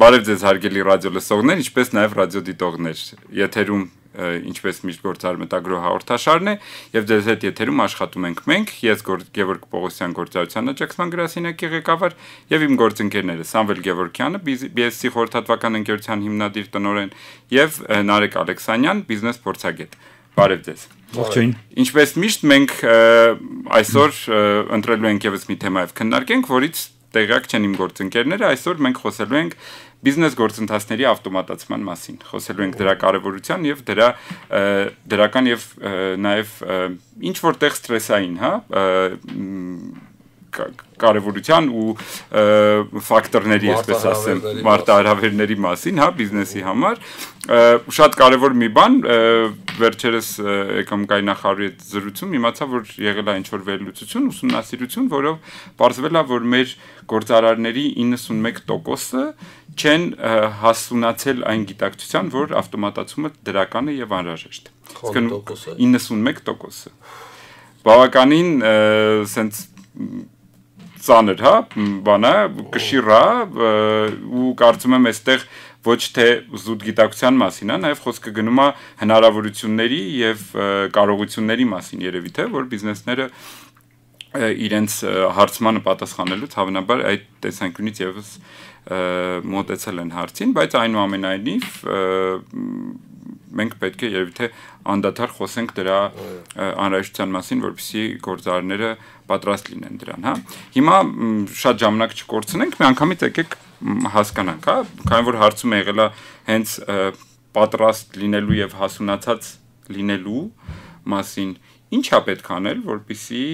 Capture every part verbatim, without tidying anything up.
Բարև ձեզ հարգելի ռադիո լսողներ, ինչպես նաև ռադիոդիտողներ։ Եթերում ինչպես միշտ գործար մտագրո հաղորդաշարն է, եւ ձեզ հետ եթերում աշխատում ենք մենք, ես Գևորգ Պողոսյան գործարարության աջակցման գրասենյակի ղեկավար եւ իմ գործընկերները Սամվել Գևորգյանը, բի էս սի խորհրդատվական ընկերության հիմնադիր տնօրեն եւ Նարեկ Ալեքսանյան, բիզնես փորձագետ։ Բարև ձեզ։ Ողջույն։ Ինչպես միշտ մենք այսօր ընտրելու ենք եւս մի թեմայով քննարկենք, որից տեղյակ չեն իմ գործընկերները, այսօր մենք խոսելու ենք բիզնես գործընթացների ավտոմատացման մասին, խոսելու ենք դրա կարևորության եւ դրա դրական եւ նաեւ ինչ որտեղ ստրեսային, հա, կարևորության ու ֆակտորների, այսպես ասեմ, մարտահրավերների մասին, հա, բիզնեսի համար, շատ կարևոր մի բան, վերջերս եկամ Գայ նախարարի հետ զրույցում իմացա, որ եղել է ինչ-որ վերլուծություն, ուսումնասիրություն, որով պարզվել է, որ մեր գործարարների իննսունմեկ տոկոսը չեն հասունացել այն գիտակցության, որ ավտոմատացումը դրական է եւ անհրաժեշտ։ իննսունմեկ տոկոսը։ Բավականին սենց ծանր, հա, բանա, կշիռա ու կարծում եմ այստեղ ոչ թե զուտ գիտակցության մասին, հա, նաև խոսքը գնում է հնարավորությունների եւ կարողությունների մասին երևի թե, որ բիզնեսները իրենց հարցմանը պատասխանելուց հավանաբար այդ տեսանկյունից եւս մոտեցել են հարցին, բայց այնուամենայնիվ մենք պետք է երևի թե անդադար խոսենք դրա անհրաժեշտության մասին, որպեսզի գործարարները պատրաստ լինեն դրան, հա։ Հիմա շատ ժամանակ չկորցնենք, մի անգամից եկեք հասկանանք, հա, քանի որ հարցում եղել է հենց պատրաստ լինելու եւ հասունացած լինելու մասին, ինչ է պետք անել, որպեսզի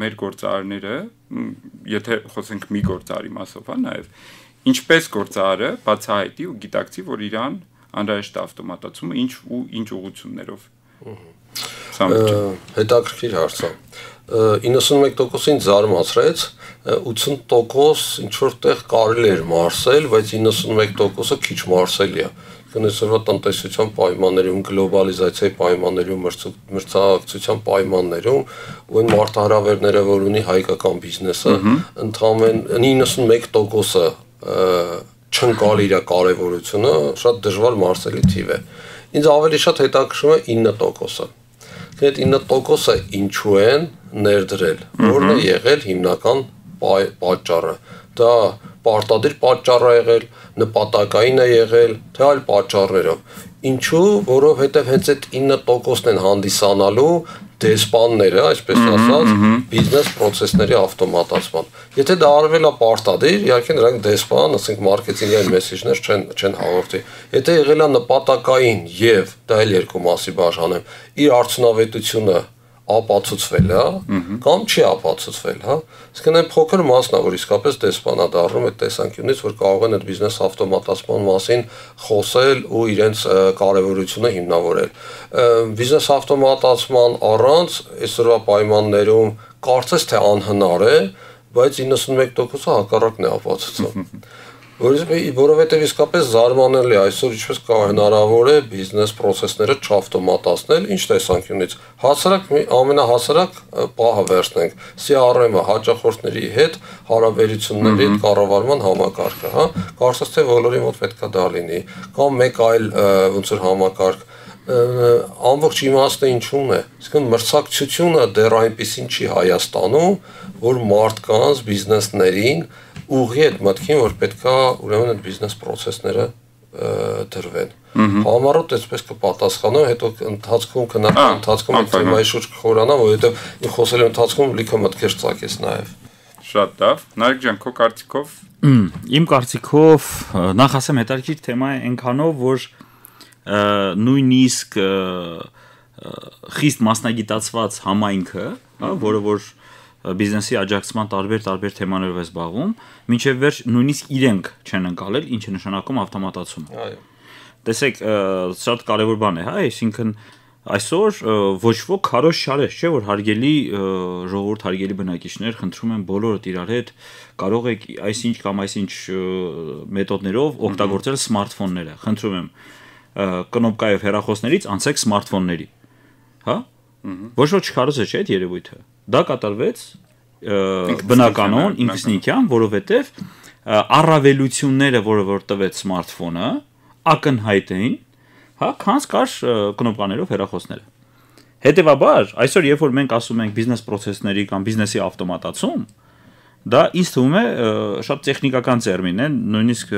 մեր գործարարները, եթե խոսենք մի գործարարի մասով, հա, նաեւ ինչպես գործարարը բացահայտի ու գիտակցի, որ իրան անհրաժեշտ ավտոմատացումը ինչ ու ինչ ուղղություններով։ Հետաքրքիր հարց է։ իննսունմեկ տոկոսին զարմացրեց, ութսուն տոկոս ինչ որտեղ կարելի էր մարսել, բայց իննսունմեկ տոկոսը քիչ մարսելի է։ Կնեսորվա տնտեսության պայմաններում, գլոբալիզացիայի պայմաններում, մրցակցության պայմաններում ու այն մարտահրավերները, որ ունի հայկական բիզնեսը, ընդհանրապես իննսունմեկ տոկոսը չընկալ իր կարևորությունը, շատ դժվար մարսելի թիվ է։ Ինձ ավելի շատ հետաքրքրում է ինը տոկոսը։ Այդ ինը տոկոսը ինչու են ներդրել, որն է եղել հիմնական պատճառը։ Դա պարտադիր պատճառ է եղել, նպատակային է եղել, թե այլ պատճառներով։ Ինչու, որովհետև հենց այդ ինը տոկոսն են հանդիսանալու դեսպանները, այսպես ասած, բիզնես process-ների ավտոմատացման։ Եթե դա արվել է պարտադիր, իհարկե նրանք դեսպան, ասենք մարքեթինգային մեսեջներ չեն չեն հաղորդի։ Եթե եղել է նպատակային եւ դա էլ երկու մասի բաժանեմ, իր արդյունավետությունը ապացուցվել է, կամ չի ապացուցվել, հա։ Իսկ այն փոքր մասն է, որ իսկապես դեսպանա դառնում այդ տեսանկյունից, որ կարող են այդ բիզնես ավտոմատացման մասին խոսել ու իրենց կարևորությունը հիմնավորել։ Բիզնես ավտոմատացման առանց այսօրվա պայմաններում կարծես թե անհնար է, բայց իննսունմեկ տոկոսը հակառակն է ապացուցում։ Որովհետև իսկապես զարմանալի է այսօր ինչպես կա հնարավոր է բիզնես process-ները չավտոմատացնել, ինչ տեսանկյունից։ Հասարակ ամենահասարակ պահը վերցնենք սի ար էմ-ը հաճախորդների հետ հարաբերությունների կառավարման համակարգը, հա։ Կարծես թե բոլորի մոտ պետք է դա լինի, կամ մեկ այլ ոնց որ համակարգ ամբողջ իմաստը ինչու՞ն է։ Իսկ մրցակցությունը դեռ այնպեսին չի Հայաստանում, որ մարդկանց բիզնեսներին ուղի այդ մտքին, որ պետքա ուրեմն այդ բիզնես process-ները դրվեն։ Համառոտ այսպես կպատասխանեմ, հետո ընթացքում քննարկման ընթացքում այդ թեմայի շուրջ կխորանամ, որովհետև իմ խոսելու ընթացքում լիքը մտքեր ծագեց նաև։ Շատ լավ։ Նարեկ ջան, քո կարծիքով։ Իմ կարծիքով նախ ասեմ հետաքրքիր թեմա է այնքանով, որ նույնիսկ խիստ մասնագիտացված համայնքը, հա, որը որ բիզնեսի աջակցման տարբեր-տարբեր թեմաներով է զբաղվում, մինչև վերջ նույնիսկ իրենք չեն ընկալել, ինչ է նշանակում ավտոմատացումը։ Այո։ Տեսեք, շատ կարևոր բան է, հա, այսինքն այսօր ոչ ոք քարոզ չարես, չէ՞ որ հարգելի ժողովուրդ, հարգելի բնակիչներ, խնդրում եմ բոլորդ իրար հետ կարող եք այսինչ կամ այսինչ մեթոդներով օգտագործել սմարթֆոնները։ Խնդրում եմ կնոպկայով հեռախոսներից անցեք սմարթֆոնների, հա։ Ոչ ոք չքարոզ է, չէ՞ այդ երևույթը։ Դա կատարվեց բնականon ինքնիքյան, որովհետև առավելությունները, որը որ տվեց սմարթֆոնը, ակնհայտ էին, հա, քանց կար կնոպկաներով հեռախոսները։ Հետևաբար, այսօր երբ որ մենք ասում ենք բիզնես process-ների կամ բիզնեսի ավտոմատացում, դա ինձ թվում է շատ տեխնիկական տերմին է, նույնիսկ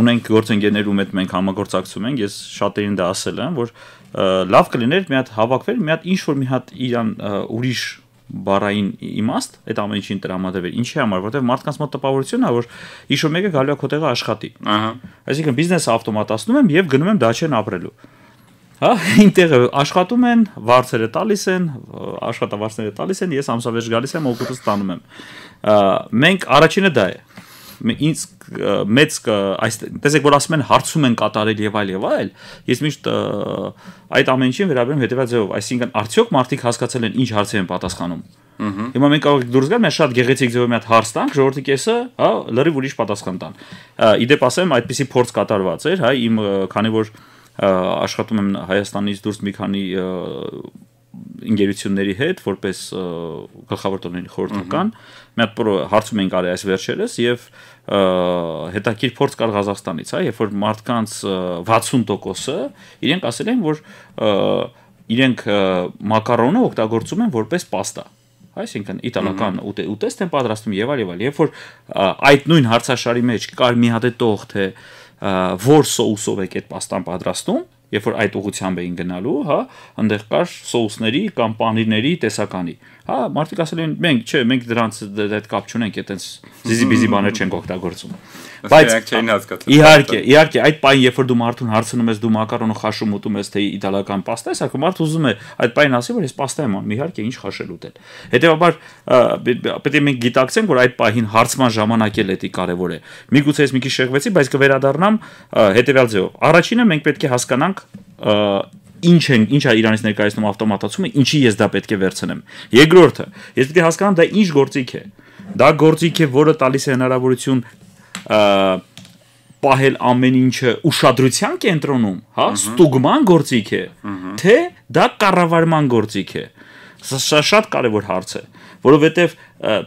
ունենք գործընկերներ, ում հետ մենք համագործակցում ենք, ես շատերին դա ասել եմ, որ լավ կլիներ մի հատ հավաքվել, մի հատ ինչ որ մի հատ իրան ուրիշ բառային իմաստ այդ ամեն ինչին տրամադրվել։ Ինչի համար, որովհետև մարդկանց մոտ տպավորությունն է, որ ինչ-որ մեկը գալու է քո տեղը աշխատի։ Ահա։ Այսինքն բիզնեսը ավտոմատացնում եմ եւ գնում եմ դաչեն ապրելու։ Հա, ինտեղ աշխատում են, վարձերը տալիս են, աշխատավարձերը տալիս են, ես ամսավերջ գալիս եմ, օգուտս ստանում եմ։ Մենք առաջինը դա է։ Ինձ մեծ այս տեսեք որ ասում են հարցում են կատարել եւ այլ եւ այլ, ես միշտ այդ ամեն ինչին վերաբերում հետեւյալ ձևով, այսինքն արդյոք մարդիկ հասկացել են ինչ հարցեր են պատասխանում։ Հիմա մենք կարող ենք դուրս գալ, մենք շատ գեղեցիկ ձևով մի հատ հարց տանք, ժողովրդի կեսը, հա, լրիվ ուրիշ պատասխան տան։ Իդեպ ասեմ, այդպիսի փորձ կատարված էր, հա, իմ քանի որ աշխատում եմ Հայաստանից դուրս մի քանի ընկերությունների հետ որպես գլխավոր տնօրենի խորհրդական մի հատ հարցում ենք արել այս վերջերս եւ հետաքրքիր փորձ կար Ղազախստանից, հա, երբ որ մարդկանց վաթսուն տոկոսը իրենք ասել են, որ իրենք մակարոնը օգտագործում են որպես պաստա, այսինքն իտալական ուտեստ են պատրաստում եւ այլ եւ այլ, երբ որ այդ նույն հարցաշարի մեջ կար մի հատ տող թե որ սոուսով եք այդ պաստան պատրաստում, երբ որ այդ ուղղությամբ էին գնալու, հա, այնտեղ կար սոուսների կամ պանիրների տեսականի։ Հա, մարդիկ ասել են, մենք, չէ, մենք դրանց այդ կապ չունենք, այտենց զիզի-բիզի բաներ չենք օգտագործում։ Բայց իհարկե, իհարկե, այդ պայն երբ որ դու մարդուն հարցնում ես, դու մակարոնը խաշում ուտում ես, թե իտալական պաստա ես, արդյոք մարդը ուզում է այդ պայն ասի, որ ես պաստա եմ անում, իհարկե, ինչ խաշել ուտել։ Հետևաբար պետք է մենք գիտակցենք, որ այդ պահին հարցման ժամանակ էլ էդի կարևոր է։ Միգուցե ես մի քիչ շեղվեցի, բայց կվերադառնամ հետևյալ ձևով։ Առաջինը մենք պետք է հասկանանք ինչ են, ինչ է Իրանից ներկայացնում ավտոմատացումը, ինչի ես դա պետք է վերցնեմ։ Երկրորդը, ես պետք է հասկանամ դա ինչ գործիք է։ Դա գործիք է, որը տալիս է հնարավորություն պահել ամեն ինչը ուշադրության կենտրոնում, հա, ստուգման գործիք է, թե դա կառավարման գործիք է։ Սա շատ կարևոր հարց է, որովհետև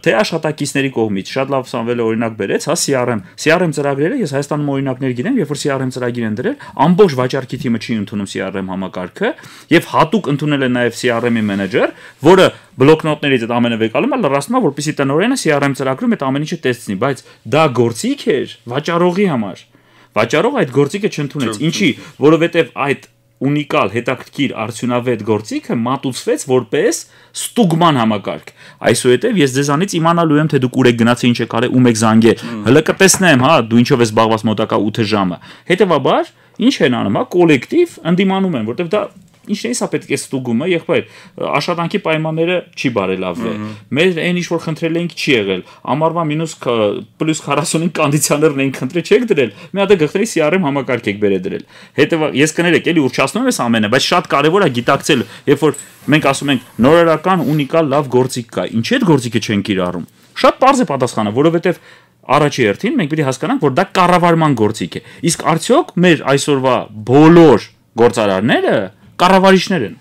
թե աշխատակիցների կողմից շատ լավ Սամվելը օրինակ բերեց, հա, C R M, C R M ծրագրերը, ես Հայաստանում օրինակներ գիտեմ, երբ որ C R M ծրագիր են դրել, ամբողջ վաճառքի թիմը չի ընդունում C R M համակարգը, եւ հատուկ ընդունել է նաեւ C R M-ի մենեջեր, որը բլոկնոտներից այդ ամենը վեկալում է, լրացնում է, որպեսզի տնօրենը C R M ծրագրում այդ ամեն ինչը տեսնի, բայց դա գործիք էր վաճառողի համար։ Վաճառող այդ գործիքը չընդունեց։ Ինչի, որովհետեւ այդ ունիկալ հետաքրքիր արդյունավետ գործիքը մատուցվեց որպես ստուգման համակարգ։ Այսուհետև ես ձեզանից իմանալու եմ, թե դուք ուր եք գնացել, ինչ եք արել, ում եք զանգել։ Հələ կտեսնեմ, հա, դու ինչով ես զբաղված մոտակա ութ ժամը։ Հետևաբար, ինչ են անում, հա, կոլեկտիվ ընդդիմանում են, որտեղ դա ինչն է, սա պետք է ստուգումը, եղբայր, աշխատանքի պայմանները չի բարելավվել։ Մեր այն ինչ որ խնդրել էինք չի եղել։ Ամառվա մինուս պլյուս քառասունին կոնդիցիոներն էինք խնդրել, չեք դրել։ Մի հատ գլխների C R M համակարգ եք բերել դրել։ Հետևաբար ես կներեք, էլի ուռճացնում ես ամենը, բայց շատ կարևոր է գիտակցել, երբ որ մենք ասում ենք նորարարական ունիկալ լավ գործիք կա, ինչի՞ այդ գործիքը չեն կիրառում։ Շատ པարզ է պատասխանը, որովհետև առաջի հերթին մենք պետք է հասկանանք, որ դա կառավարման գործիք է։ Իսկ արդյոք մեր այսօրվա բոլոր գործարարները կառավարիչներ են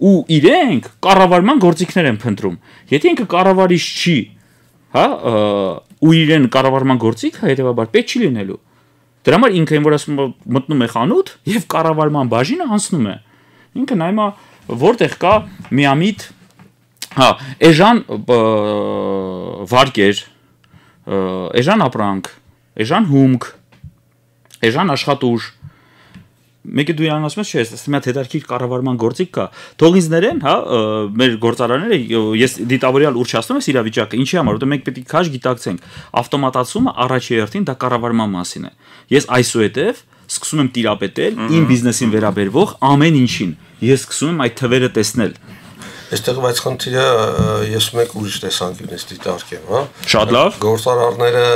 ու իրենք կառավարման գործիքներ են փնտրում։ Եթե ինքը կառավարիչ չի, հա, ու իրեն կառավարման գործիք, հետեւաբար պետք չի լինելու։ Դրա համար ինքը այն որ ասում մտնում է խանութ եւ կառավարման բաժինը անցնում է։ Ինքը նայում է որտեղ կա միամիտ, հա, էժան վարկեր, էժան ապրանք, էժան հումք, էժան աշխատուժ։ Մեկը դու իրան ասում ես, չէ, ասում եմ հետարքիր կառավարման գործիք կա։ Թող ինձ ներեն, հա, մեր գործարանները, ես դիտավորյալ ուռճացնում ես իրավիճակը, ինչի համար, որտեղ մենք պետք է քաշ գիտակցենք, ավտոմատացումը առաջի հերթին դա կառավարման մասին է։ Ես այսուհետև սկսում եմ տիրապետել իմ բիզնեսին վերաբերվող ամեն ինչին։ Ես սկսում եմ այդ թվերը տեսնել։ Այստեղ բայց խնդիրը ես մեկ ուրիշ տեսանկյունից դիտարկեմ, հա։ Շատ լավ։ Գործարարները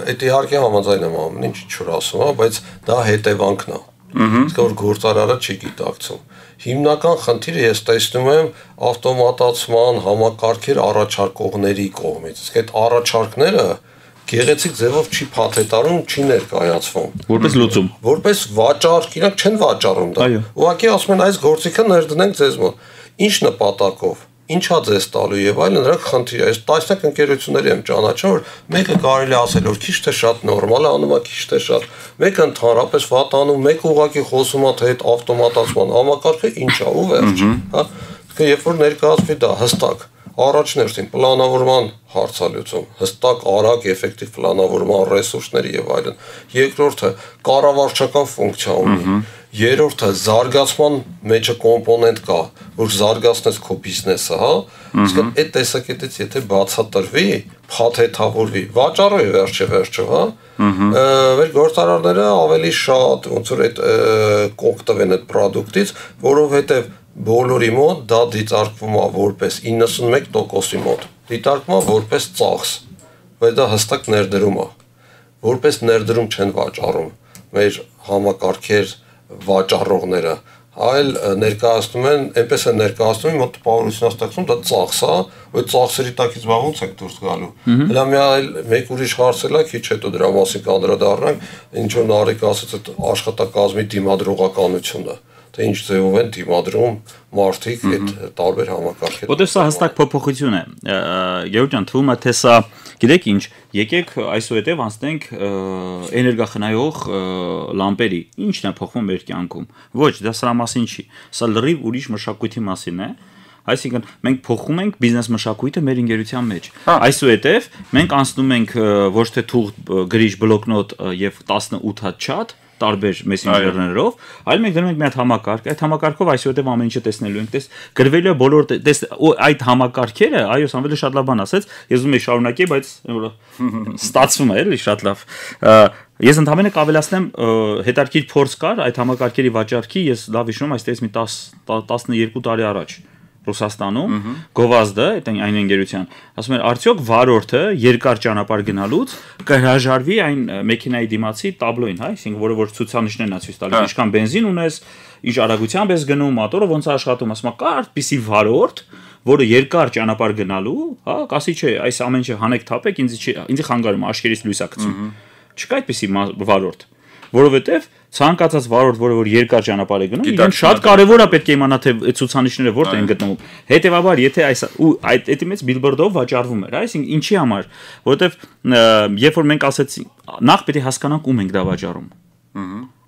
այդ իհարկե համաձայն եմ ամեն ինչ ինչ որ ասում, հա, բայց դա հետևանքն է։ Իսկ որ գործարարը չի գիտակցում։ Հիմնական խնդիրը ես տեսնում եմ ավտոմատացման համակարգեր առաջարկողների կողմից։ Իսկ այդ առաջարկները գեղեցիկ ձևով չի փաթեթարում, չի ներկայացվում։ Որպես լուծում։ Որպես վաճառք, իրանք չեն վաճառում դա։ Ուղղակի ասում են այս գործիքը ներդնենք ձեզ մոտ։ Ինչ նպատակով։ ինչա ձեզ տալու եւ այլն, նրանք խնդիր է։ Այս տասնյակ ընկերությունների եմ ճանաչում, որ մեկը կարելի ասել որ քիչ թե շատ նորմալ է անում, քիչ թե շատ, մեկը ընդհանրապես վատ անում, մեկը ուղղակի խոսում է թե այդ ավտոմատացման համակարգը ինչ է ու վերջ, հա։ Դե երբ որ ներկայացվի դա հստակ առաջներտին պլանավորման հարցալուծում, հստակ արագ էֆեկտիվ պլանավորման ռեսուրսների եւ այլն։ Երկրորդը կառավարչական ֆունկցիա ունի։ Երրորդը զարգացման մեջը կոմպոնենտ կա, որ զարգացնես քո բիզնեսը, հա։ Իսկ այդ տեսակետից եթե բացատրվի, փաթեթավորվի, վաճառը վերջը վերջը, հա։ Մեր գործարարները ավելի շատ ոնց որ այդ կօգտվեն այդ product-ից, որովհետեւ բոլորի մոտ դա դիտարկվում է որպես իննսունմեկ տոկոսի մոտ։ Դիտարկվում է որպես ծախս, բայց դա հստակ ներդրում է։ Որպես ներդրում չեն վաճառում մեր համակարգեր վաճառողները, այլ ներկայացնում են, այնպես են ներկայացնում, մոտ տպավորություն ստեղծում, դա ծախս է, այդ ծախսերի տակից ո՞նց եք դուրս գալու։ Հələ մի այլ մեկ ուրիշ հարցել է, քիչ հետո դրա մասին կանդրադառնանք, ինչ որ Նարեկը ասաց այդ աշխատակազմի դիմադրողականությունը, թե ինչ ձևով են դիմադրում մարդիկ այդ տարբեր համակարգեր։ Որտեղ սա հստակ փոփոխություն է։ Գեորգ ջան, թվում է թե սա, գիտեք ինչ, եկեք այսուհետև անցնենք էներգախնայող լամպերի, ինչն է փոխվում մեր կյանքում։ Ոչ, դա սրա մասին չի։ Սա լրիվ ուրիշ մշակույթի մասին է։ Այսինքն մենք փոխում ենք բիզնես մշակույթը մեր ընկերության մեջ։ Այսուհետև մենք անցնում ենք ոչ թե թուղթ, գրիչ, բլոկնոտ եւ տասնութ հատ չաթ տարբեր մեսենջերներով, այլ մենք դնում ենք մի հատ համակարգ, այդ համակարգով այսուհետև ամեն ինչը տեսնելու ենք, տես գրվելու է բոլոր տես այդ համակարգերը, այո, Սամվելը շատ լավ բան ասեց, ես ուզում եմ շարունակել, բայց ստացվում է, էլի շատ լավ։ Ես ընդհանրապես կավելացնեմ, հետարքիր փորձ կար այդ համակարգերի վաճառքի, ես լավ հիշում եմ, այստեղից մի տասնյոթ տարի առաջ Ռուսաստանում գովազդը այդ այն ընկերության ասում էր արդյոք վարորդը երկար ճանապարհ գնալուց կհրաժարվի այն մեքենայի դիմացի տաբլոին, հա, այսինքն որը որ ցուցանիշներն է ցույց տալիս, ինչքան բենզին ունես, ինչ արագությամբ ես գնում, մոտորը ոնց է աշխատում, ասում է կա այդպիսի վարորդ, որը երկար ճանապարհ գնալու, հա, կասի չէ, այս ամեն ինչը հանեք թափեք, ինձ ինձ խանգարում է, աշկերից լույս է գցում։ Չկա այդպիսի վարորդ, որովհետև ցանկացած վարորդ, որը որ երկար ճանապարհ է գնում, իրեն շատ կարևոր է պետք է իմանա թե այդ ցուցանիշները որտեղ են գտնվում։ Հետևաբար, եթե այս ու այդ այդի մեջ բիլբորդով վաճառվում էր, այսինքն ինչի համար, որովհետև երբ որ մենք ասեցինք, նախ պետք է հասկանանք ում ենք դա վաճառում։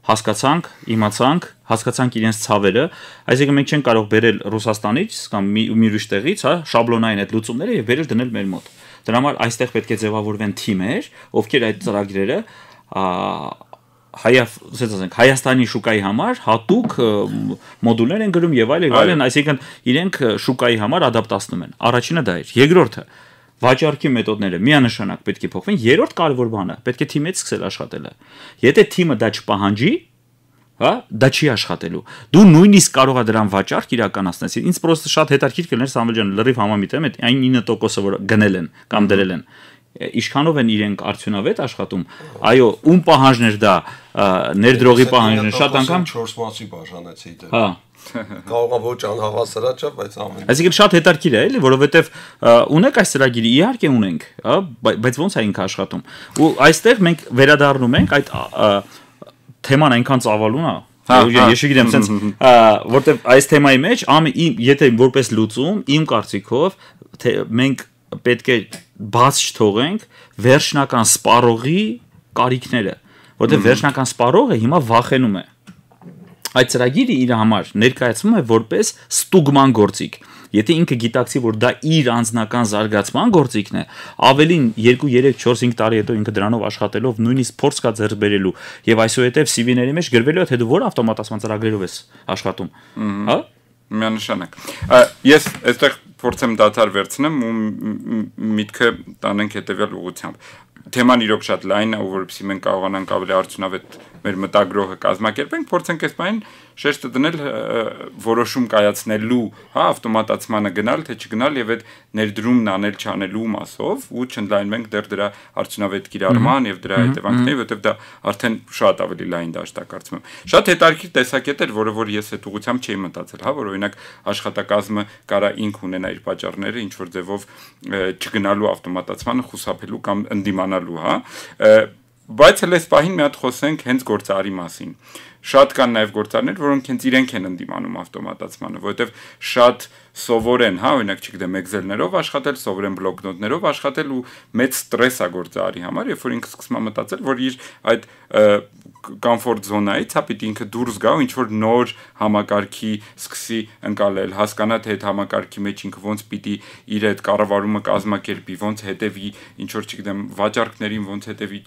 Հասկացանք, իմացանք, հասկացանք իրենց ցավերը, այսինքն մենք չենք կարող բերել Ռուսաստանից կամ մի ուրիշ տեղից, հա, շաբլոնային այդ լուծումները եւ վերել դնել մեր մոտ։ Դրա համար այստեղ պետք է ձևավորվեն թիմեր, ովքեր այդ ծրագրերը Հայավ, ասած ասենք, Հայաստանի շուկայի համար հատուկ մոդուլներ են գրում եւ այլն, այլն, այսինքն իրենք շուկայի համար ադապտացնում են։ Առաջինը դա էր։ Երկրորդը վաճառքի մեթոդները միանշանակ պետք է փոխվեն։ Երրորդ կարևոր բանը պետք է թիմից սկսել աշխատելը։ Եթե թիմը դա չպահանջի, հա, դա չի աշխատելու։ Դու նույնիսկ կարող ես դրան վաճառք իրականացնես։ Ինձ պրոստը շատ հետաքրքիր կլներ Սամվել ջան, լրիվ համամիտ եմ, այդ այն նինը տոկոսը որ գնել են կամ դրել են։ Ինչքանով են իրենք արդյունավետ աշխատում, այո, ում պահանջներ դա ներդրողի պահանջներ շատ անգամ չորս մասի բաժանեցի դա։ Հա։ Կարող է ոչ անհավասարաճ է, բայց ամեն։ Այսինքն շատ հետաքրքիր է, էլի, որովհետև ունեք այս ծրագիրը, իհարկե ունենք, հա, բայց ո՞նց է ինքը աշխատում։ Ու այստեղ մենք վերադառնում ենք այդ թեման այնքան ծավալուն է, ես չգիտեմ, sense որտեվ այս թեմայի մեջ եթե որպես լուծում, իմ կարծիքով, թե մենք պետք է բաց չթողենք վերջնական սպառողի կարիքները, որտեղ վերջնական սպառողը հիմա վախենում է։ Այդ ծրագիրը իր համար ներկայացվում է որպես ստուգման գործիք։ Եթե ինքը գիտակցի, որ դա իր անձնական զարգացման գործիքն է, ավելին երկու, երեք, չորս, հինգ տարի հետո ինքը դրանով աշխատելով նույնիսկ փորձ կա ձեռք բերելու եւ այսուհետեւ սի վի-ների մեջ գրվելու է թե դու որ ավտոմատացման ծրագրերով ես աշխատում, հա? Միանշանակ։ Ես այստեղ փորձեմ դադար վերցնեմ ու միտքը տանենք հետեւյալ ուղղությամբ։ Թեման իրոք շատ լայն է, որովհետեւ մենք կարողանանք ավելի արդյունավետ մեր մտագրողը կազմակերպենք, փորձենք այս բան շեշտը դնել որոշում կայացնելու, հա, ավտոմատացմանը գնալ, թե չգնալ եւ այդ ներդրումն անել չանելու մասով ու չընդլայնվենք դեռ դրա արդյունավետ կիրառման եւ դրա հետևանքների, որովհետեւ դա արդեն շատ ավելի լայն դաշտ է կարծում եմ։ Շատ հետաքրքիր տեսակետ էր, որը որ ես այդ ուղղությամբ չէի մտածել, հա, որ օրինակ աշխատակազմը կարա ինք ունենա իր պատճառները, ինչ որ ձևով չգնալու ավտոմատացմանը խուսափելու կամ ընդդիմանալու, հա։ Բայց հենց այս պահին մի հատ խոսենք հենց գործարարի մասին։ շատ կան նաև գործարներ, որոնք հենց իրենք են ընդդիմանում ավտոմատացմանը, որովհետև շատ սովոր են, հա, օրինակ չգիտեմ, Excel-ներով աշխատել, սովոր են բլոկնոտներով աշխատել ու մեծ ստրես է գործարարի համար, երբ որ ինքը սկսում է մտածել, որ իր այդ կոմֆորտ զոնայից, հա, պիտի ինքը դուրս գա ու ինչ որ նոր համակարգի սկսի ընկալել, հասկանա թե այդ համակարգի մեջ ինքը ոնց պիտի իր այդ կառավարումը կազմակերպի, ոնց հետևի, ինչ որ չգիտեմ, վաճառքներին, ոնց հետևի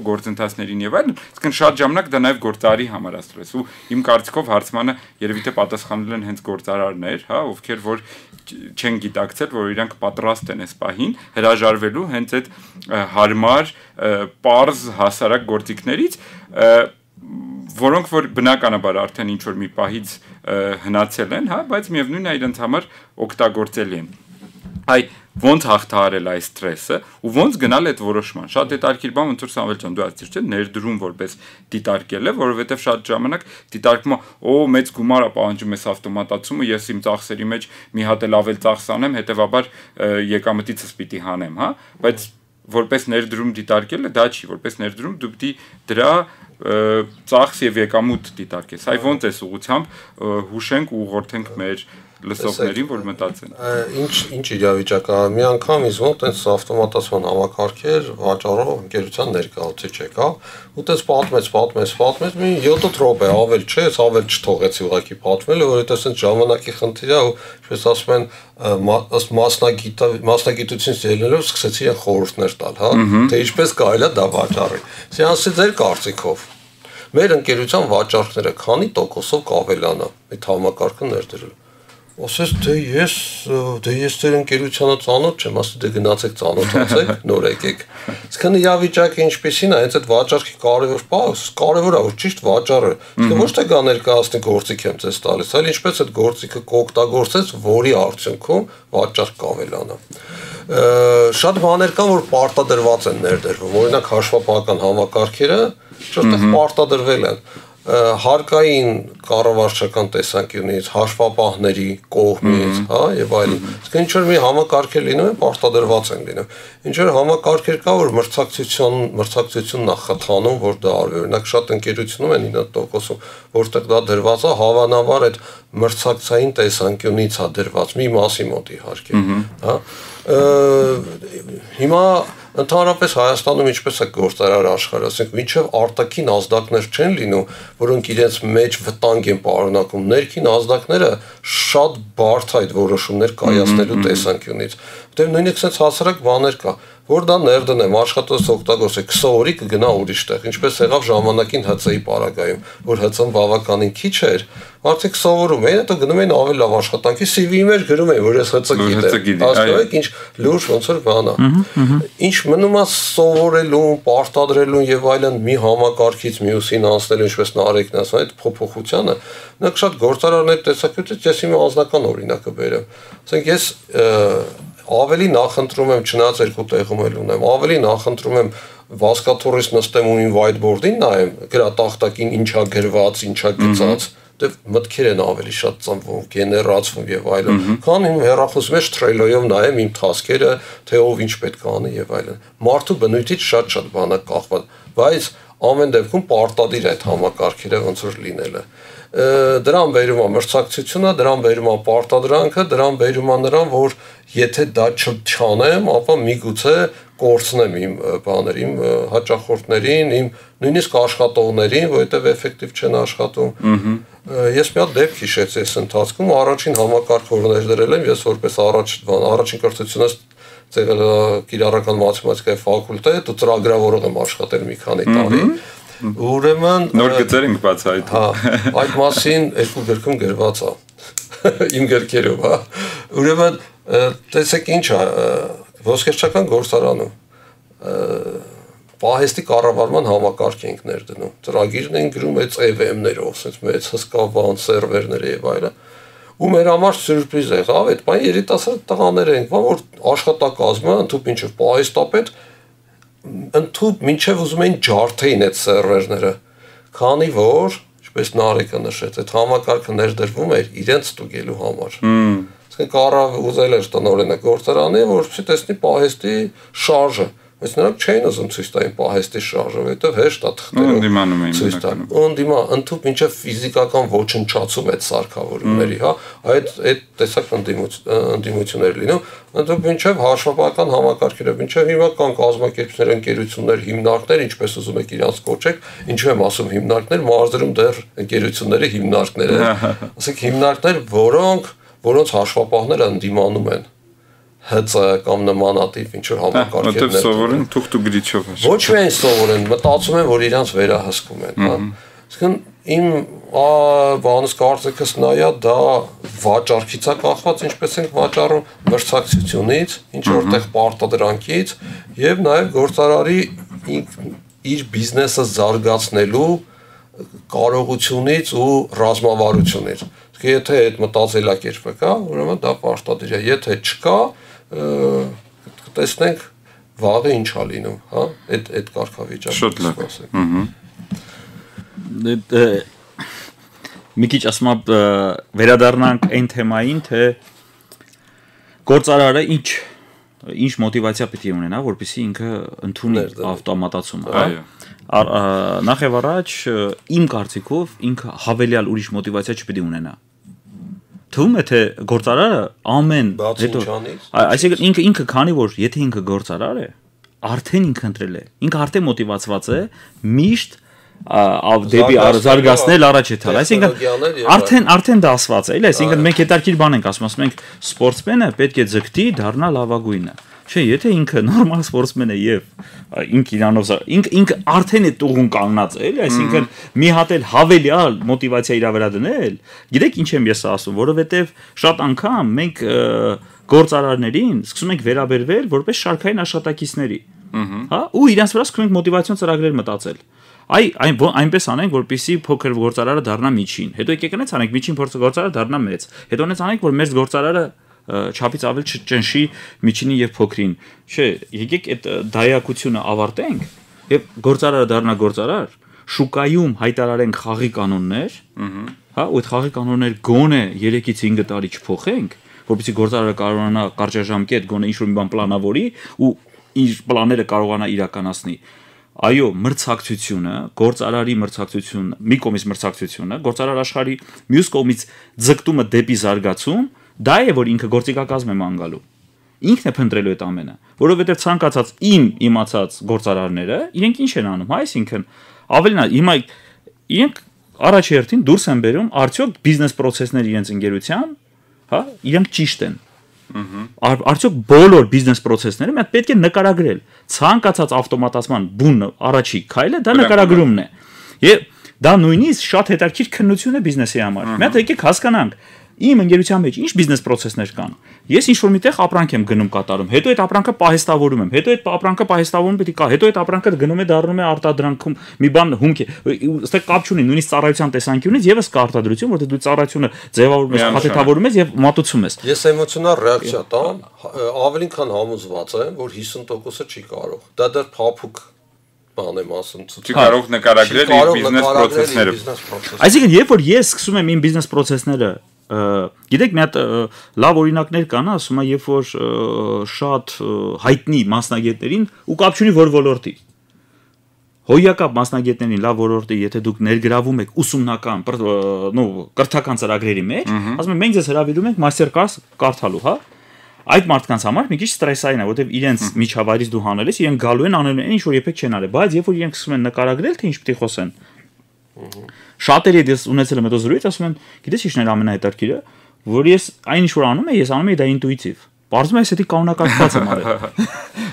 գործընթացներին եւ այլն, այսինքն շատ ժամանակ դա նաեւ գործարարի համար է ստրես ու իմ կարծիքով հարցմանը երևի թե պատասխանել են հենց գործարարներ, հա, ովքեր որ չեն գիտակցել, որ իրանք պատրաստ են այս պահին հրաժարվելու հենց այդ հարմար, պարզ հասարակ գործիքներից, որոնք որ բնականաբար արդեն ինչ որ մի պահից հնացել են, հա, բայց միևնույնն է իրենց համար օգտագործելի են։ Այ ոնց հաղթահարել այս ստրեսը ու ոնց գնալ այդ որոշման։ Շատ հետաքրքիր բան ոնց որ Սամվել ջան դու ասացիր, չէ՞, ներդրում որպես դիտարկել է, որովհետև շատ ժամանակ դիտարկումը օ մեծ գումար է պահանջում այս ավտոմատացումը, ես իմ ծախսերի մեջ մի հատ էլ ավել ծախս անեմ, հետեւաբար եկամտիցս պիտի հանեմ, հա, բայց որպես ներդրում դիտարկելը դա չի, որպես ներդրում դու պիտի դրա ծախս եւ եկամուտ դիտարկես։ Այ ոնց էս ուղղությամբ հուշենք ու ուղղորդենք մեր լսողներին, որ մտածեն։ Ինչ ինչ իրավիճակ է, մի անգամ ինձ մոտ այնց ավտոմատացման համակարգեր վաճառող ընկերության ներկայացուցիչ եկա, ու տես պատմեց, պատմեց, պատմեց, մի յոթ րոպե ավել չէ, ես ավել չթողեցի ուղղակի պատմել, որովհետեւ այսպես ժամանակի խնդիր է ու ինչպես ասում են, ըստ մասնագիտ մասնագիտությունից ելնելով սկսեցի իրեն խորհուրդներ տալ, հա, թե ինչպես կարելի է դա վաճառել։ Սրանցի ձեր կարծիքով մեր ընկերության վաճառքները քանի տոկոսով կավելանա այդ համակարգը ներդրել։ Ասես դե ես դե ես ձեր ընկերությանը ծանոթ չեմ, ասի դե գնացեք ծանոթացեք, նոր եկեք։ Իսկն իրավիճակը ինչպեսին է, հենց այդ վաճառքի կարևոր բանը, կարևոր է որ ճիշտ վաճառը։ Իսկ ոչ թե գա ներկայացնի գործիք եմ ձեզ տալիս, այլ ինչպես այդ գործիքը կօգտագործես, որի արդյունքում վաճառք կավելանա։ Շատ բաներ կան, որ պարտադրված են ներդրվում, օրինակ հաշվապահական համակարգերը շուտով պարտադրվել են հարկային կառավարչական տեսանկյունից, հաշվապահների կողմից, հա, եւ այլն։ Իսկ ինչ որ մի համակարգեր լինում են, պարտադրված են լինում։ Ինչ որ համակարգեր կա, որ մրցակցություն, մրցակցությունն է խթանում, որ դա արվի։ Օրինակ շատ ընկերությունում են ինը տոկոսում, որտեղ դա դրված է, հավանաբար այդ մրցակցային տեսանկյունից է դրված, մի մասի մոտ իհարկե, հա։ Հիմա ընդհանրապես Հայաստանում ինչպես է գործարար աշխարհը, ասենք մինչև արտաքին ազդակներ չեն լինում, որոնք իրենց մեջ վտանգ են պարունակում, ներքին ազդակները շատ բարդ այդ որոշումներ կայացնելու տեսանկյունից։ Որտեղ նույնիսկ sense հասարակ բաներ կա, որ դա ներդնեմ, աշխատած օգտագործեք, քսան օրի կգնա ուրիշ տեղ, ինչպես եղավ ժամանակին ՀՑ-ի պարագայում, որ ՀՑ-ն բավականին քիչ էր, արդեն սովորում էին, հետո գնում էին ավելի լավ աշխատանքի, սի վի-ի մեջ գրում էին, որ ես ՀՑ գիտեմ, հասկանում ինչ լուրջ ոնց որ բան է։ Ինչ մնում է սովորելուն, պարտադրելուն եւ այլն մի համակարգից մյուսին անցնելու, ինչպես Նարեկն ասում, այդ փոփոխությանը, նրանք շատ գործարարներ տեսակետից ես իմ անձնական օրինակը բերեմ։ Ասենք ես ավելի նախընտրում եմ չնայած երկու տեղում էլ ունեմ, ավելի նախընտրում եմ վազկաթոռից նստեմ ու իմ whiteboard-ին նայեմ, գրատախտակին ինչա գրված, ինչա գծած, դե մտքեր են ավելի շատ ծնվում, գեներացվում եւ այլն։ Քան իմ հեռախոսի մեջ Trello-ով նայեմ իմ task-երը, թե ով ինչ պետք է անի եւ այլն։ Մարդու բնույթից շատ-շատ բան է կախված, բայց ամեն դեպքում պարտադիր է այդ համակարգերը ոնց որ լինելը։ Դրան բերում է մրցակցությունը, դրան բերում է պարտադրանքը, դրան բերում է նրան, որ եթե դա չանեմ, ապա միգուցե կորցնեմ իմ բաներին, հաճախորդներին, իմ նույնիսկ աշխատողներին, որովհետև էֆեկտիվ չեն աշխատում։ Ես մի հատ դեպք հիշեցի այս ընթացքում, առաջին համակարգ որ ներդրել եմ, ես որպես առաջ առաջին կրթությունս ծեղել կիրառական մաթեմատիկայի ֆակուլտետ ու ծրագրավորող եմ աշխատել մի քանի տարի։ Ուրեմն նոր գծեր ենք բացահայտ։ Հա, այդ մասին երկու գրքում գրված է։ Իմ գրքերով, հա։ Ուրեմն տեսեք ինչ է, ոսկերչական գործարանում պահեստի կառավարման համակարգ ենք ներդնում։ Ծրագիրն են գրում այդ E V M-ներով, ասես մեծ հսկա բան, սերվերներ եւ այլն։ Ու մեր համար սյուրպրիզ է եղավ, այդ բան երիտասարդ տղաներ ենք, որ աշխատակազմը ընդհանուր ինչով պահեստապետ ընդհանուր մինչև ուզում էին ջարդեին այդ սերվերները, քանի որ, ինչպես Նարեկը նշեց, այդ համակարգը ներդրվում էր իրենց ստուգելու համար։ Իսկ կարա ուզել էր տնօրենը գործարանի, որպեսզի տեսնի պահեստի շարժը, բայց նրանք չէին ուզում ցույց տային պահեստի շարժը, որովհետև հեշտ է թղթերով ցույց տան։ Անդիմա ընդհանուր մինչև ֆիզիկական ոչնչացում այդ սարքավորումների, հա, այդ այդ տեսակ ընդդիմություններ լինում, ընդհանուր մինչև հաշվապահական համակարգերը, մինչև հիմա կան կազմակերպություններ, ընկերություններ, հիմնարկներ, ինչպես ուզում եք իրանց կոչեք, ինչու եմ ասում հիմնարկներ, մարզերում դեռ ընկերությունների հիմնարկներ են, ասենք հիմնարկներ, որոնք որոնց հաշվապահները ընդդիմանում են հծ կամ նմանատիպ ինչ որ համակարգեր Որտեղ սովորեն թուղթ ու գրիչով։ Ոչ միայն սովորեն, մտածում են, որ իրանց վերահսկում են, հա։ Իսկն իմ բանս կարծիքս նայա դա վաճառքից է կախված, ինչպես ենք վաճառում մրցակցությունից, ինչ որտեղ պարտադրանքից եւ նաեւ գործարարի իր բիզնեսը զարգացնելու կարողությունից ու ռազմավարությունից։ Եթե այդ մտածելակերպը կա, ուրեմն դա պարտադիր է, եթե չկա, տեսնենք վաղը ինչ է լինում, հա, այդ այդ կարգավիճակը։ Շատ լավ։ Մի քիչ ասում եմ վերադառնանք այն թեմային, թե գործարարը ինչ ինչ մոտիվացիա պետք է ունենա, որպեսզի ինքը ընդունի ավտոմատացումը, հա։ Նախ եւ առաջ իմ կարծիքով ինքը հավելյալ ուրիշ մոտիվացիա չպետք է ունենա։ Թվում է թե գործարարը ամեն հետո այսինքն ինքը ինքը քանի որ եթե ինքը գործարար է արդեն ինքը ընտրել է ինքը արդեն մոտիվացված է միշտ դեպի զարգացնել առաջ եթալ այսինքն արդեն արդեն դա ասված է էլի այսինքն մենք հետարքիր բան ենք ասում ասում ենք սպորտսմենը պետք է ձգտի դառնալ լավագույնը չէ եթե ինքը նորմալ սպորտսմեն է եւ ինքը իրանով ինքը ինքը արդեն է տուղուն կանգնած է էլի այսինքն մի հատ էլ հավելյալ մոտիվացիա իրա վրա դնել գիտեք ինչ եմ ես ասում որովհետեւ շատ անգամ մենք գործարարներին սկսում ենք վերաբերվել որպես շարքային աշխատակիցների հա ու իրանց վրա սկսում ենք մոտիվացիոն ծրագրեր մտածել այ այն այնպես անենք որպեսզի փոքր գործարարը դառնա միջին հետո եկեք անենք անենք միջին փորձը գործարարը դառնա մեծ հետո անենք անենք որ մեր գործարարը չափից ավել չճնշի միջինի եւ փոքրին չէ եկեք այդ դայակությունը ավարտենք եւ գործարարը դառնա գործարար շուկայում հայտարարենք խաղի կանոններ հա ու այդ խաղի կանոններ գոնե երեքից հինգ տարի չփոխենք որպեսզի գործարարը կարողանա կարճաժամկետ գոնե ինչ-որ մի բան պլանավորի ու իր պլանները կարողանա իրականացնի այո մրցակցությունը գործարարի մրցակցությունը մի կողմից մրցակցությունը գործարար աշխարհի մյուս կողմից ձգտումը դեպի զարգացում դա է որ ինքը գործիքակազմ է ման գալու ինքն է փնտրելու այդ ամենը որովհետև ցանկացած իմ իմացած գործարարները իրենք ինչ են անում այսինքն ավելին հիմա իրենք առաջերտին դուրս են բերում արդյոք բիզնես process-ները իրենց ընկերության հա իրենք ճիշտ են արդյոք բոլոր բիզնես process-ները մենք պետք է նկարագրել ցանկացած ավտոմատացման բուն առաջի քայլը դա նկարագրումն է եւ դա նույնիսկ շատ հետաքրքիր քննություն է բիզնեսի համար մենք եկեք հասկանանք Իմ ընկերության մեջ ինչ բիզնես process-ներ կան։ Ես ինչ որ միտեղ ապրանք եմ գնում կատարում, հետո այդ ապրանքը պահեստավորում եմ, հետո այդ ապրանքը պահեստավորում պետք է կա, հետո այդ ապրանքը գնում է դառնում է արտադրանքում մի բան հումք է։ Այստեղ կապ չունի, նույնիսկ ծառայության տեսանկյունից եւս կա արտադրություն, որտեղ դու ծառայությունը ձևավորում ես, փաթեթավորում ես եւ մատուցում ես։ Ես էմոցիոնալ ռեակցիա տամ, ավելին քան համոզված եմ, որ հիսուն տոկոսը չի կարող։ Դա դեռ փափուկ բան եմ ասում, չի կարող նկարագրել իր բիզնես process-ները։ Այսինքն, երբ որ ես սկսում եմ իմ բիզնես process-ները Գիտեք, մի հատ լավ օրինակներ կան, ասում եմ, երբ որ շատ հայտնի մասնագետներին ու կապ չունի որ ոլորտի։ Հոյակապ մասնագետներին լավ ոլորտի, եթե դուք ներգրավում եք ուսումնական, նո, կրթական ծրագրերի մեջ, ասում եմ, մենք ձեզ հրավիրում ենք մաստեր կլաս կարդալու, հա։ Այդ մարդկանց համար մի քիչ ստրեսային է, որովհետև իրենց միջավայրից դու հանելիս, իրենք գալու են անելու են ինչ որ երբեք չեն արել, բայց երբ որ իրենք սկսում են նկարագրել, թե ինչ պետք է խոսեն Շատերի դες ունեցել եմ հետո զրույց, ասում են, գիտես ինչն է ամենահետաքրքիրը, որ ես այն ինչ որ անում եմ, ես անում եմ դա ինտուիտիվ։ Պարզվում է, ես դա կանոնակարգված եմ արել։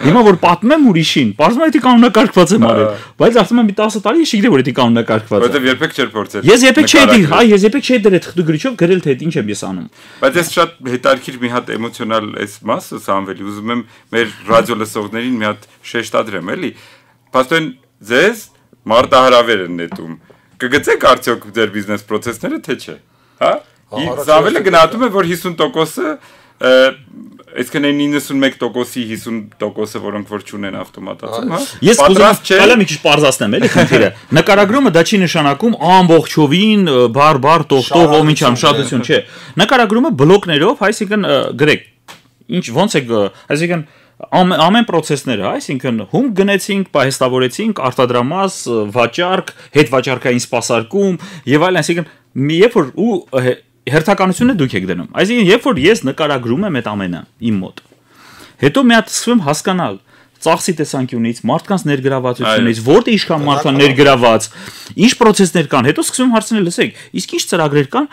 Հիմա որ պատմում եմ ուրիշին, պարզվում է, դա կանոնակարգված եմ արել, բայց ասում եմ մի տասը տարի ես չգիտեմ, որ դա կանոնակարգված է։ Որտեվ երբեք չէր փորձել։ Ես երբեք չէի դի, հա, ես երբեք չէի դրել թղթի գրիչով գրել թե ինչ եմ ես անում։ Բայց ես շատ հետաքրքիր մի հատ էմոցիոնալ այս մասը Սամվելի ուզում եմ մեր ռադիո լսողներին մի հատ շեշտադրեմ, էլի։ Պաստոն ձեզ մարտահրավեր են նետում։ Կգծեք արդյոք ձեր բիզնես process-ները թե չէ, հա? Սամվելը գնահատում է, որ հիսուն տոկոսը, այսինքն այն իննսունմեկ տոկոսի հիսուն տոկոսը, որոնք որ չունեն ավտոմատացում, հա? Ես պատրաստ չէ։ Հələ մի քիչ պարզացնեմ, էլի խնդիրը։ Նկարագրումը դա չի նշանակում ամբողջովին բար-բար տող-տող ով ինչ ամշատություն, չէ։ Նկարագրումը բլոկներով, այսինքն գրեք, ինչ ոնց է, այսինքն ամեն ամեն process-ները, այսինքն հում գնեցինք, պահեստավորեցինք, արտադրամաս, վաճառք, հետ վաճառքային սպասարկում եւ այլն, այսինքն երբ որ ու հերթականությունը դուք եք դնում։ Այսինքն երբ որ ես նկարագրում եմ այդ ամենը իմ մոտ, հետո մի հատ սկսում եմ հասկանալ ծախսի տեսանկյունից, մարդկանց ներգրավվածությունից, որտե ինչքան մարդկան ներգրաված, ինչ process-ներ կան, հետո սկսում եմ հարցնել, լսեք, իսկ ինչ ծրագրեր կան,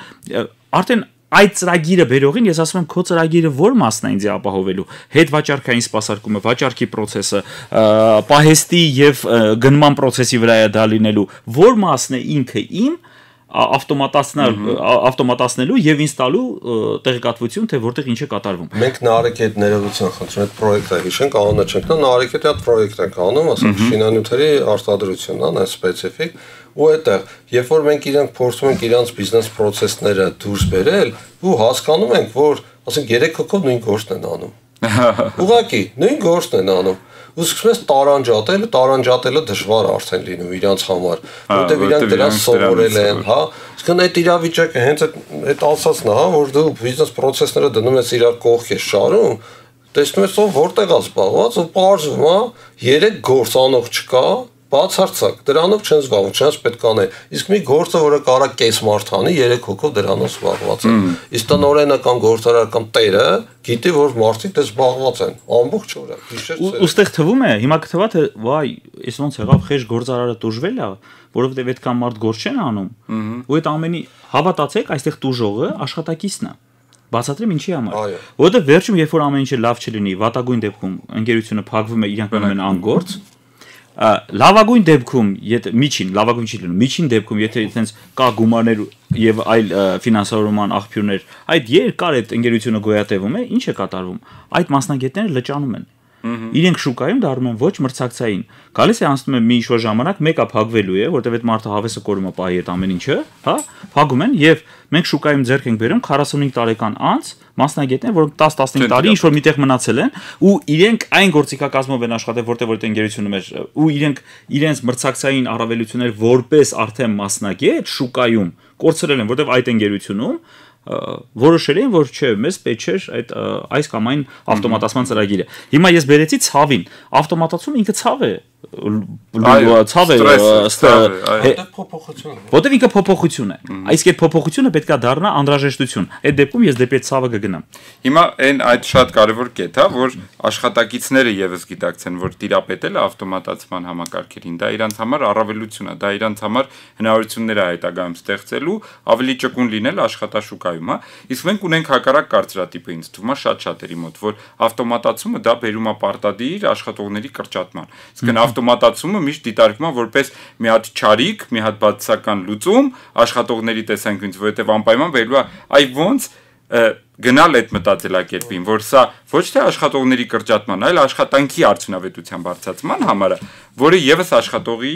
արդեն այդ ծրագիրը բերողին ես ասում եմ քո ծրագիրը ո՞ր մասն է ինձ ապահովելու հետ վաճառքային սպասարկումը, վաճառքի process-ը, պահեստի եւ գնման process-ի վրա է դա լինելու, ո՞ր մասն է ինքը իմ ավտոմատացնել ավտոմատացնելու եւ ինձ տալու տեղեկատվություն թե որտեղ ինչ է կատարվում։ Մենք Նարեկի հետ ներողություն խնդրում ենք պրոյեկտը հիշենք, անունը չենք տա, Նարեկի հետ այդ պրոյեկտ ենք անում, ասենք շինանյութերի արտադրությունն է, այն սպეციფიկ, ու այդտեղ, երբ որ մենք իրանք փորձում ենք իրանց բիզնես process-ները դուրս բերել, ու հասկանում ենք, որ ասենք երեք հոգով նույն գործն են անում։ Ուղղակի նույն գործն են անում։ Ու սկսում ես տարանջատել, տարանջատելը դժվար արդեն լինում իրանց համար, որտեղ իրանք դրան սովորել են, հա։ Իսկ այդ իրավիճակը հենց այդ ասածն է, հա, որ դու բիզնես process-ները դնում ես իրար կողք ես շարում, տեսնում ես ով որտեղ է զբաղված, ու պարզվում է երեք գործանող չկա, բացարձակ դրանով չեն զբաղվում, չնայած պետք է անել։ Իսկ մի գործը, որը կարա կես մարդ անի, երեք հոգով դրանով զբաղված է։ Իսկ տնօրենը կամ գործարար կամ տերը գիտի, որ մարդիկ դե զբաղված են ամբողջ օրը։ Ոստեղ թվում է, հիմա կթվա թե վայ, այս ոնց եղավ խեժ գործարարը տուժվել է, որովհետև այդքան մարդ գործ չեն անում։ Ու այդ ամենի հավատացեք, այստեղ տուժողը աշխատակիցն է։ Բացատրեմ ինչի համար։ Որովհետև վերջում երբ որ ամեն ինչը լավ չլինի, վատագույն դեպքում ընկերությունը փակվում է, իրանք մնում են անգործ։ Լավագույն դեպքում, եթե միջին, լավագույն չի լինում, միջին դեպքում, եթե այդպես կա գումարներ եւ այլ ֆինանսավորման աղբյուրներ, այդ երկար այդ ընկերությունը գոյատևում է, ինչ է կատարվում։ Այդ մասնագետները լճանում են։ Իրենք շուկայում դառնում են ոչ մրցակցային։ Գալիս է անցնում է մի ինչ-որ ժամանակ, մեկը փակվելու է, որտեղ այդ մարդը հավեսը կորում է պահի այդ ամեն ինչը, հա, փակում են եւ մենք շուկայում ձեռք ենք բերում քառասունհինգ տարեկան անց մասնագետներ, որոնք տաս տասնհինգ տարի ինչ-որ միտեղ մնացել են ու իրենք այն գործիքակազմով են աշխատել, որտեղ որ այդ ընկերությունը մեր ու իրենք իրենց մրցակցային առավելություններ որպես արդեն մասնագետ շուկայում կորցրել են, որտեղ այդ ընկերությունում որոշել են, որ չէ, մեզ պետք չէ այդ այս կամ այն ավտոմատացման ծրագիրը։ Հիմա ես բերեցի ցավին, ավտոմատացումը ինքը ցավ է, ցավ է, փոփոխություն։ Որտեղ ինքը փոփոխություն է։ Իսկ այդ փոփոխությունը պետք է դառնա անհրաժեշտություն։ Այդ դեպքում ես դեպի ցավը կգնամ։ Հիմա այն այդ շատ կարևոր կետ է, որ աշխատակիցները եւս գիտակցեն, որ տիրապետելը ավտոմատացման համակարգերին դա իրանց համար առավելություն է, դա իրանց համար հնարավորություններ է հետագայում ստեղծելու, ավելի ճկուն լինել աշխատաշուկայում, հա։ Իսկ մենք ունենք հակառակ կարծրատիպը, ինձ թվում է շատ շատերի մոտ, որ ավտոմատացումը դա բերում է պարտադիր աշխատողների կրճատման։ Իսկ ավտոմատացումը միշտ դիտարկվում է որպես մի հատ չարիք, մի հատ բացասական լուծում աշխատողների տեսանկյունից, որովհետև անպայման վերելու է այ ոնց գնալ այդ մտածելակերպին, որ սա ոչ թե աշխատողների կրճատման, այլ աշխատանքի արդյունավետության բարձրացման համար է, որը եւս աշխատողի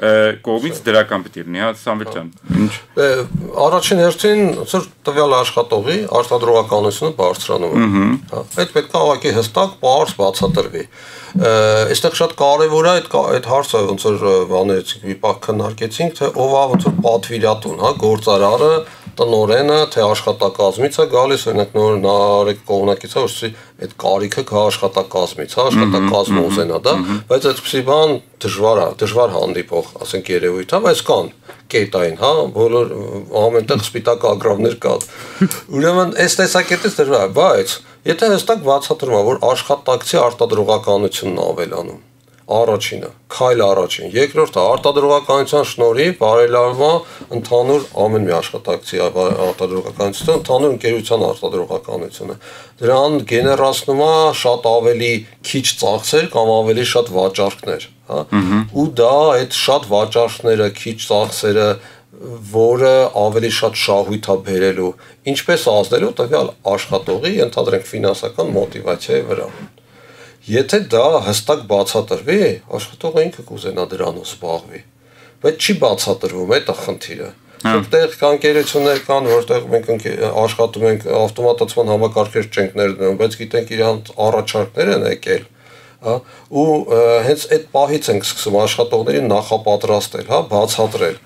կողմից դրական պետք է լինի, հա, Սամվել ջան։ Ինչ։ Առաջին հերթին ծր տվյալ աշխատողի արտադրողականությունը բարձրանում է։ Հա, այդ պետք է ուղղակի հստակ, պարզ բացատրվի։ Այստեղ շատ կարևոր է այդ այդ հարցը, ոնց որ բաներից մի պահ քննարկեցինք, թե ով է ոնց որ պատվիրատուն, հա, գործարարը, տնօրենը, թե աշխատակազմից է գալիս, օրինակ նոր Նարեկ կողմնակից է, որ այդ կարիքը կա աշխատակազմից, հա, աշխատակազմը ուզենա դա, բայց այդպիսի բան դժվար է, դժվար հանդիպող, ասենք երևույթ, հա, բայց կան կետային, հա, բոլոր ամենտեղ սպիտակ ագրավներ կան։ Ուրեմն այս տեսակետից դժվար է, բայց եթե հստակ բացատրում է, որ աշխատակցի արտադրողականությունն ավելանում, առաջինը, քայլ առաջին, երկրորդը արտադրողականության շնորհիվ բարելավվում է ընդհանուր ամեն մի աշխատակցի արտադրողականությունը, ընդհանուր ընկերության արտադրողականությունը։ Դրան գեներացնում է շատ ավելի քիչ ծախսեր կամ ավելի շատ վաճառքներ, հա, ու դա այդ շատ վաճառքները, քիչ ծախսերը, որը ավելի շատ շահույթ է բերելու, ինչպես ազդելու տվյալ աշխատողի, ընդհանրենք ֆինանսական մոտիվացիայի վրա։ Եթե դա հստակ բացատրվի, աշխատողը ինքը կուզենա դրանով զբաղվի, բայց չի բացատրվում, այդ է խնդիրը։ Որտեղ կան ընկերություններ կան, որտեղ մենք աշխատում ենք ավտոմատացման համակարգեր չենք ներդնում, բայց գիտենք իրանց առաջարկներ են եկել, հա, ու հենց այդ պահից ենք սկսում աշխատողներին նախապատրաստել, հա, բացատրել։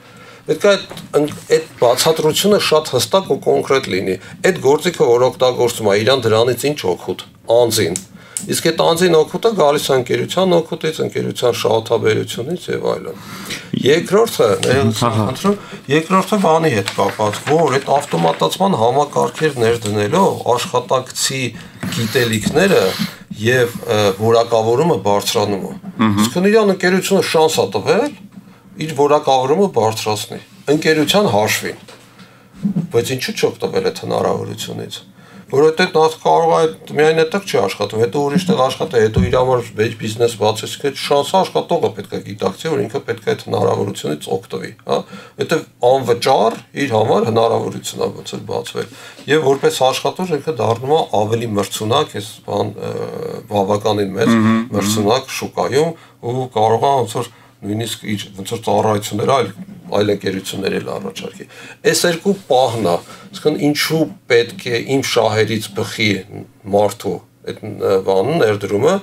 Պետք է այդ այդ բացատրությունը շատ հստակ ու կոնկրետ լինի։ Այդ գործիքը, որ օգտագործում է, իրան դրանից ինչ օգուտ, անձին։ Իսկ այդ անձին օգուտը գալիս է ընկերության օգուտից, ընկերության շահութաբերությունից եւ այլն։ Երկրորդը, ներողություն, երկրորդը բանի հետ կապված, որ այդ ավտոմատացման համակարգեր ներդնելով աշխատակցի գիտելիքները եւ որակավորումը բարձրանում է։ Իսկ իրան ընկերությունը շանս է տվել իր որակավորումը բարձրացնի ընկերության հաշվին։ Բայց ինչու՞ չօգտվել այդ հնարավորությունից։ Որովհետեւ նա կարող է միայն այդտեղ չի աշխատում, հետո ուրիշ տեղ աշխատի, հետո իր համար վեճ բիզնես բացեցիք, այդ շանսը աշխատողը պետք է գիտակցի, որ ինքը պետք է այդ հնարավորությունից օգտվի, հա։ Որովհետեւ անվճար իր համար հնարավորություն է ոնց էլ բացվել։ Եւ որպես աշխատող ինքը դառնում է ավելի մրցունակ, այս բան բավականին մեծ մրցունակ շուկայում ու կարող է ոնց որ նույնիսկ իր ոնց որ ծառայություններ այլ այլ ընկերություններ էլ առաջարկի։ Այս երկու պահն է, ասեն ինչու պետք է իմ շահերից բխի մարդու այդ բանը ներդրումը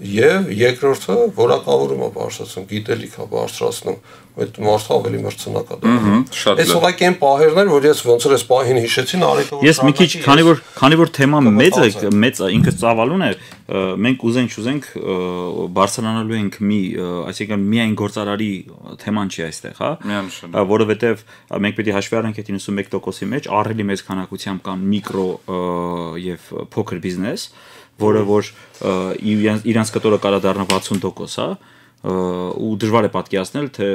եւ երկրորդը որակավորումը բարձրացնում, գիտելիքա բարձրացնում, այդ մարդը ավելի մրցունակ է դառնում։ Այս ուղղակի այն պահերներ, որ ես ոնց որ այս պահին հիշեցին, արեկը որ ես մի քիչ քանի որ քանի որ թեման մեծ է, մեծ է, ինքը ծավալուն է, մենք ուզենք ուզենք բարձրանալու ենք մի, այսինքն միայն գործարարի թեման չի այստեղ, հա, որովհետեւ մենք պետք է հաշվի առնենք այդ իննսունմեկ տոկոսի մեջ ահռելի մեծ քանակությամբ կան միկրո եւ փոքր բիզնես, որը որ իրանց կտորը կարա դառնա վաթսուն տոկոս, հա, ու դժվար է պատկերացնել, թե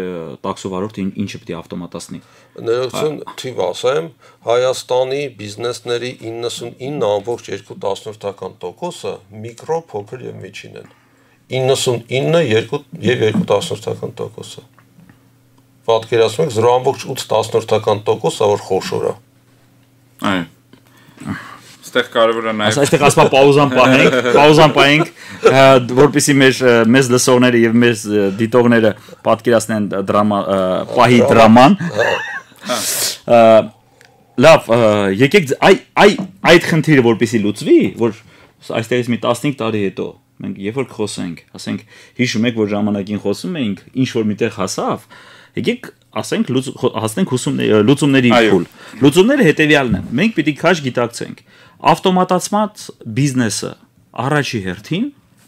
տաքսով վարորդ ինչը պետք է ավտոմատացնի։ Ներողություն, թիվ ասեմ, Հայաստանի բիզնեսների իննսունինը ամբողջ երկու տասնորդական տոկոսը միկրո, փոքր եւ միջին են։ իննսունինը երկու եւ երկու տասնորդական տոկոսը։ Պատկերացնում եք զրո ամբողջ ութ տասնորդական տոկոսը, որ խոշոր է։ Այո։ Այստեղ կարևոր է նաև այստեղ ասպա պաուզան պահենք, պաուզան պահենք, որպեսզի մեր մեզ լսողները եւ մեզ դիտողները պատկերացնեն դրամա պահի դրաման։ Լավ, եկեք այ այ այդ խնդիրը որպեսզի լուծվի, որ այստեղից մի տասնհինգ տարի հետո մենք երբ որ խոսենք, ասենք հիշում եք, որ ժամանակին խոսում էինք, ինչ որ միտեղ հասավ, եկեք ասենք հասնենք լուծումների փուլ։ Լուծումները հետեւյալն են։ Մենք պիտի քաշ գիտակցենք ավտոմատացված բիզնեսը առաջի հերթին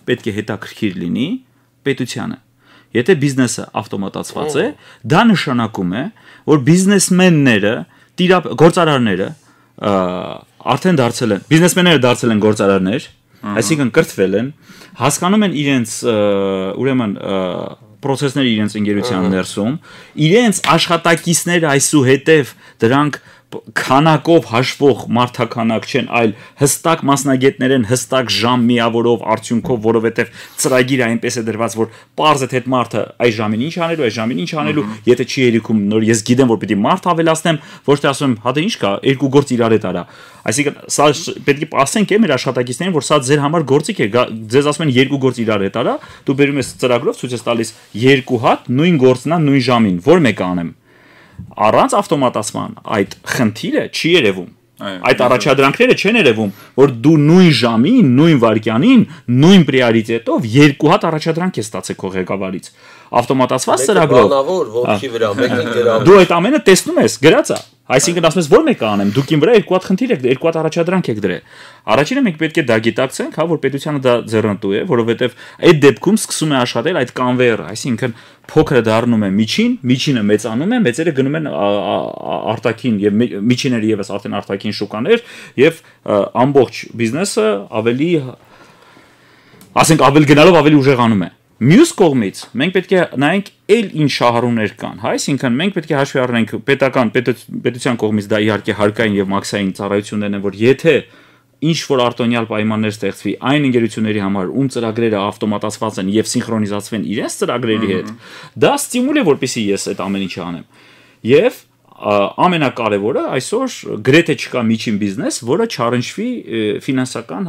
պետք է հետաքրքիր լինի պետությանը։ Եթե բիզնեսը ավտոմատացված է, դա նշանակում է, որ բիզնեսմենները, գործարարները արդեն դարձել են, բիզնեսմենները դարձել են գործարարներ, այսինքն կրթվել են, հասկանում են իրենց ուրեմն process-ները իրենց ընկերության ներսում, իրենց աշխատակիցները այսուհետև դրանք քանակով հաշվող մարդականակ չեն, այլ հստակ մասնագետներ են, հստակ ժամ միավորով արդյունքով, որովհետև ծրագիրը այնպես է դրված, որ պարզ է թե այդ մարդը այս ժամին ինչ անելու, այս ժամին ինչ անելու, եթե չի երիքում, նոր ես գիտեմ, որ պիտի մարդ ավելացնեմ, ոչ թե ասում եմ, հա դե ինչ կա, երկու գործ իրար հետ արա։ Այսինքն սա պետք է ասենք է մեր աշխատակիցներին, որ սա ձեր համար գործիք է, ձեզ ասում են երկու գործ իրար հետ արա, դու բերում ես ծրագրով ցույց ես տալիս երկու հատ նույն գործն է նույն ժամին, որ մեկը անեմ։ Առանց ավտոմատացման այդ խնդիրը չի երևում։ Այդ առաջադրանքները չեն երևում, որ դու նույն ժամին, նույն վայրկյանին, նույն պրիորիտետով երկու հատ առաջադրանք ես ստացել քո ղեկավարից։ Ավտոմատացված ծրագրով։ Բանավոր ողքի վրա, մեկին գրավ։ Դու այդ ամենը տեսնում ես, գրած է։ Այսինքն ասում ես, որ մեկը անեմ, դուք իմ վրա երկու հատ խնդիր եք, երկու հատ առաջադրանք եք դրել։ Առաջինը մենք պետք է դա գիտակցենք, հա, որ պետությանը դա ձեռնտու է, որովհետև այդ դեպքում սկսում է աշխատել այդ կանվեյերը, այսինքն փոքրը դառնում է միջին, միջինը մեծանում է, մեծերը գնում են արտաքին եւ միջիները եւս արդեն արտաքին շուկաներ եւ ամբողջ բիզնեսը ավելի ասենք ավել գնալով ավելի ուժեղանում է։ Մյուս կողմից մենք պետք է նայենք այլ ինչ շահառուներ կան, հա, այսինքն մենք պետք է հաշվի առնենք պետական պետության կողմից դա իհարկե հարկային եւ մաքսային ծառայություններն են, որ եթե ինչ որ արտոնյալ պայմաններ ստեղծվի այն ընկերությունների համար, ում ծրագրերը ավտոմատացված են եւ սինխրոնիզացվեն իրենց ծրագրերի հետ, դա ստիմուլ է, որպեսզի ես այդ ամեն ինչը անեմ։ Եվ ամենակարևորը այսօր գրեթե չկա միջին բիզնես, որը չառնչվի ֆինանսական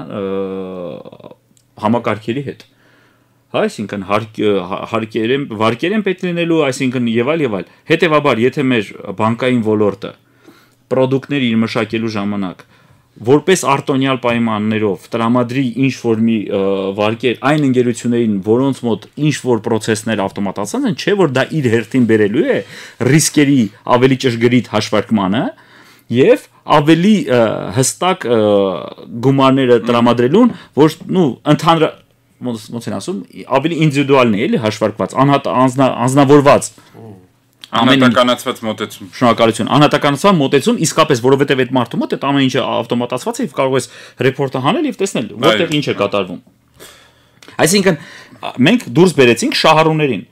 համակարգերի հետ։ Այսինքն հարկերեն վարկերեն պետք լինելու, այսինքն եւ այլ եւ այլ։ Հետեւաբար, եթե մեր բանկային ոլորտը product-ներ իր մշակելու ժամանակ որպես արտոնյալ պայմաններով տրամադրի ինչ որ մի վարկեր այն ընկերություններին, որոնց մոտ ինչ որ process-ներ ավտոմատացած են, չէ՞ որ դա իր հերթին բերելու է ռիսկերի ավելի ճշգրիտ հաշվարկմանը եւ ավելի հստակ գումարները տրամադրելուն, որ նու ընդհանուր ոնց են ասում, ավելի ինդիվիդուալն է, էլի հաշվարկված, անձնավորված անհատականացված մոտեցում։ Շնորհակալություն։ Անհատականացված մոտեցում, իսկապես, որովհետև այդ մարդու մոտ այդ ամեն ինչը ավտոմատացված է եւ կարող ես ռեպորտը հանել եւ տեսնել որտեղ ինչ է կատարվում։ Այսինքն մենք դուրս բերեցինք շահառուներին։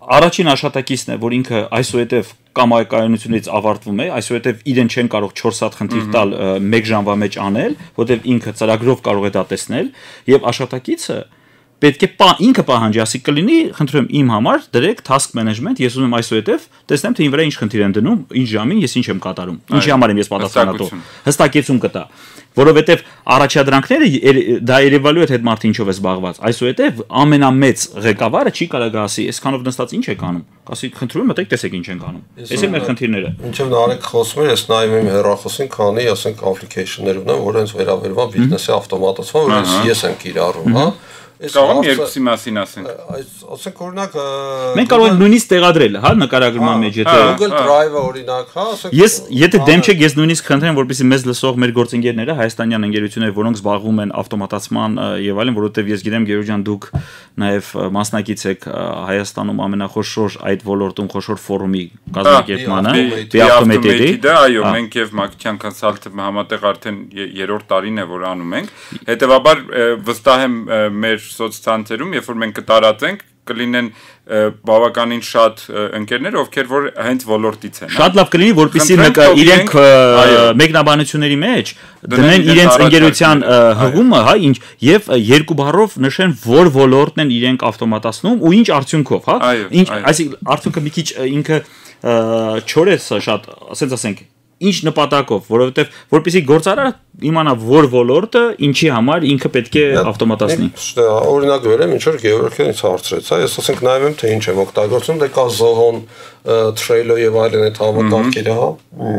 Առաջին աշխատակիցն է, որ ինքը այսուհետև կամայակայունությունից ավարտվում է, այսուհետև իրեն չեն կարող չորս հատ խնդիր տալ մեկ ժամվա մեջ անել, որովհետև ինքը ծրագրով կարող է դա տեսնել եւ աշխատակիցը պետք է պա, ինքը պահանջի, ասի կլինի, խնդրում իմ համար դրեք task management, ես ուզում եմ այսուհետև տեսնեմ թե ին վրա ինչ խնդիր են դնում, ինչ ժամին ես ինչ եմ կատարում, ինչի համար եմ ես պատասխանատու։ Հստակեցում կտա, որովհետև առաջադրանքները դա երևալու է թե այդ մարդը ինչով է զբաղված, այսուհետև ամենամեծ ղեկավարը չի կարող ասի, այսքանով նստած ինչ եք անում, ասի խնդրում եմ մտեք տեսեք ինչ ենք անում, այս է մեր խնդիրները։ Ինչեւ Նարեկ խոսում էր, ես նայում եմ հեռախոսին, քանի ասենք application-ներ ունեմ, որ հենց վերաբերվում բիզնեսի ավտոմատացման, որ ես եմ կիրառում, հա։ Կարող եմ երկուսի մասին ասենք։ Այս ասենք օրինակ մենք կարող ենք նույնիսկ տեղադրել, հա, նկարագրման մեջ, եթե Google Drive-ը օրինակ, հա, ասենք Ես եթե դեմ չեք, ես նույնիսկ խնդրեմ, որպեսզի մեզ լսող մեր գործընկերները, հայաստանյան ընկերությունները, որոնք զբաղվում են ավտոմատացման եւ այլն, որովհետեւ ես գիտեմ Գերու ջան դուք նաեւ մասնակից եք Հայաստանում ամենախոշոր այդ ոլորտում խոշոր ֆորումի կազմակերպմանը, Be-Automated-ի, դա այո, մենք եւ Մակիչյան Consulting համատեղ արդեն երրորդ տարին է որ անում ենք։ Հետեւաբար վստահ եմ մեր սոցցանցերում, երբ որ մենք կտարածենք, կլինեն բավականին շատ ընկերներ, ովքեր որ հենց ոլորտից են։ Շատ լավ կլինի, որպեսզի իրենք մեկնաբանությունների մեջ դնեն իրենց ընկերության հղումը, հա, ինչ եւ երկու բառով նշեն, որ ոլորտն են իրենք ավտոմատացնում ու ինչ արդյունքով, հա։ Ինչ, այսինքն արդյունքը մի քիչ ինքը չոր է շատ, ասենց ասենք ինչ նպատակով, որովհետև որպեսզի գործարարը իմանա որ ոլորտը ինչի համար ինքը պետք է ավտոմատացնի։ Օրինակ վերեմ, ինչ որ Գեորգիան ինձ հարցրեց, հա, ես ասենք նայում եմ թե ինչ եմ օգտագործում, դե կա Zoho-ն, Trello եւ այլն այդ համակարգերը, հա,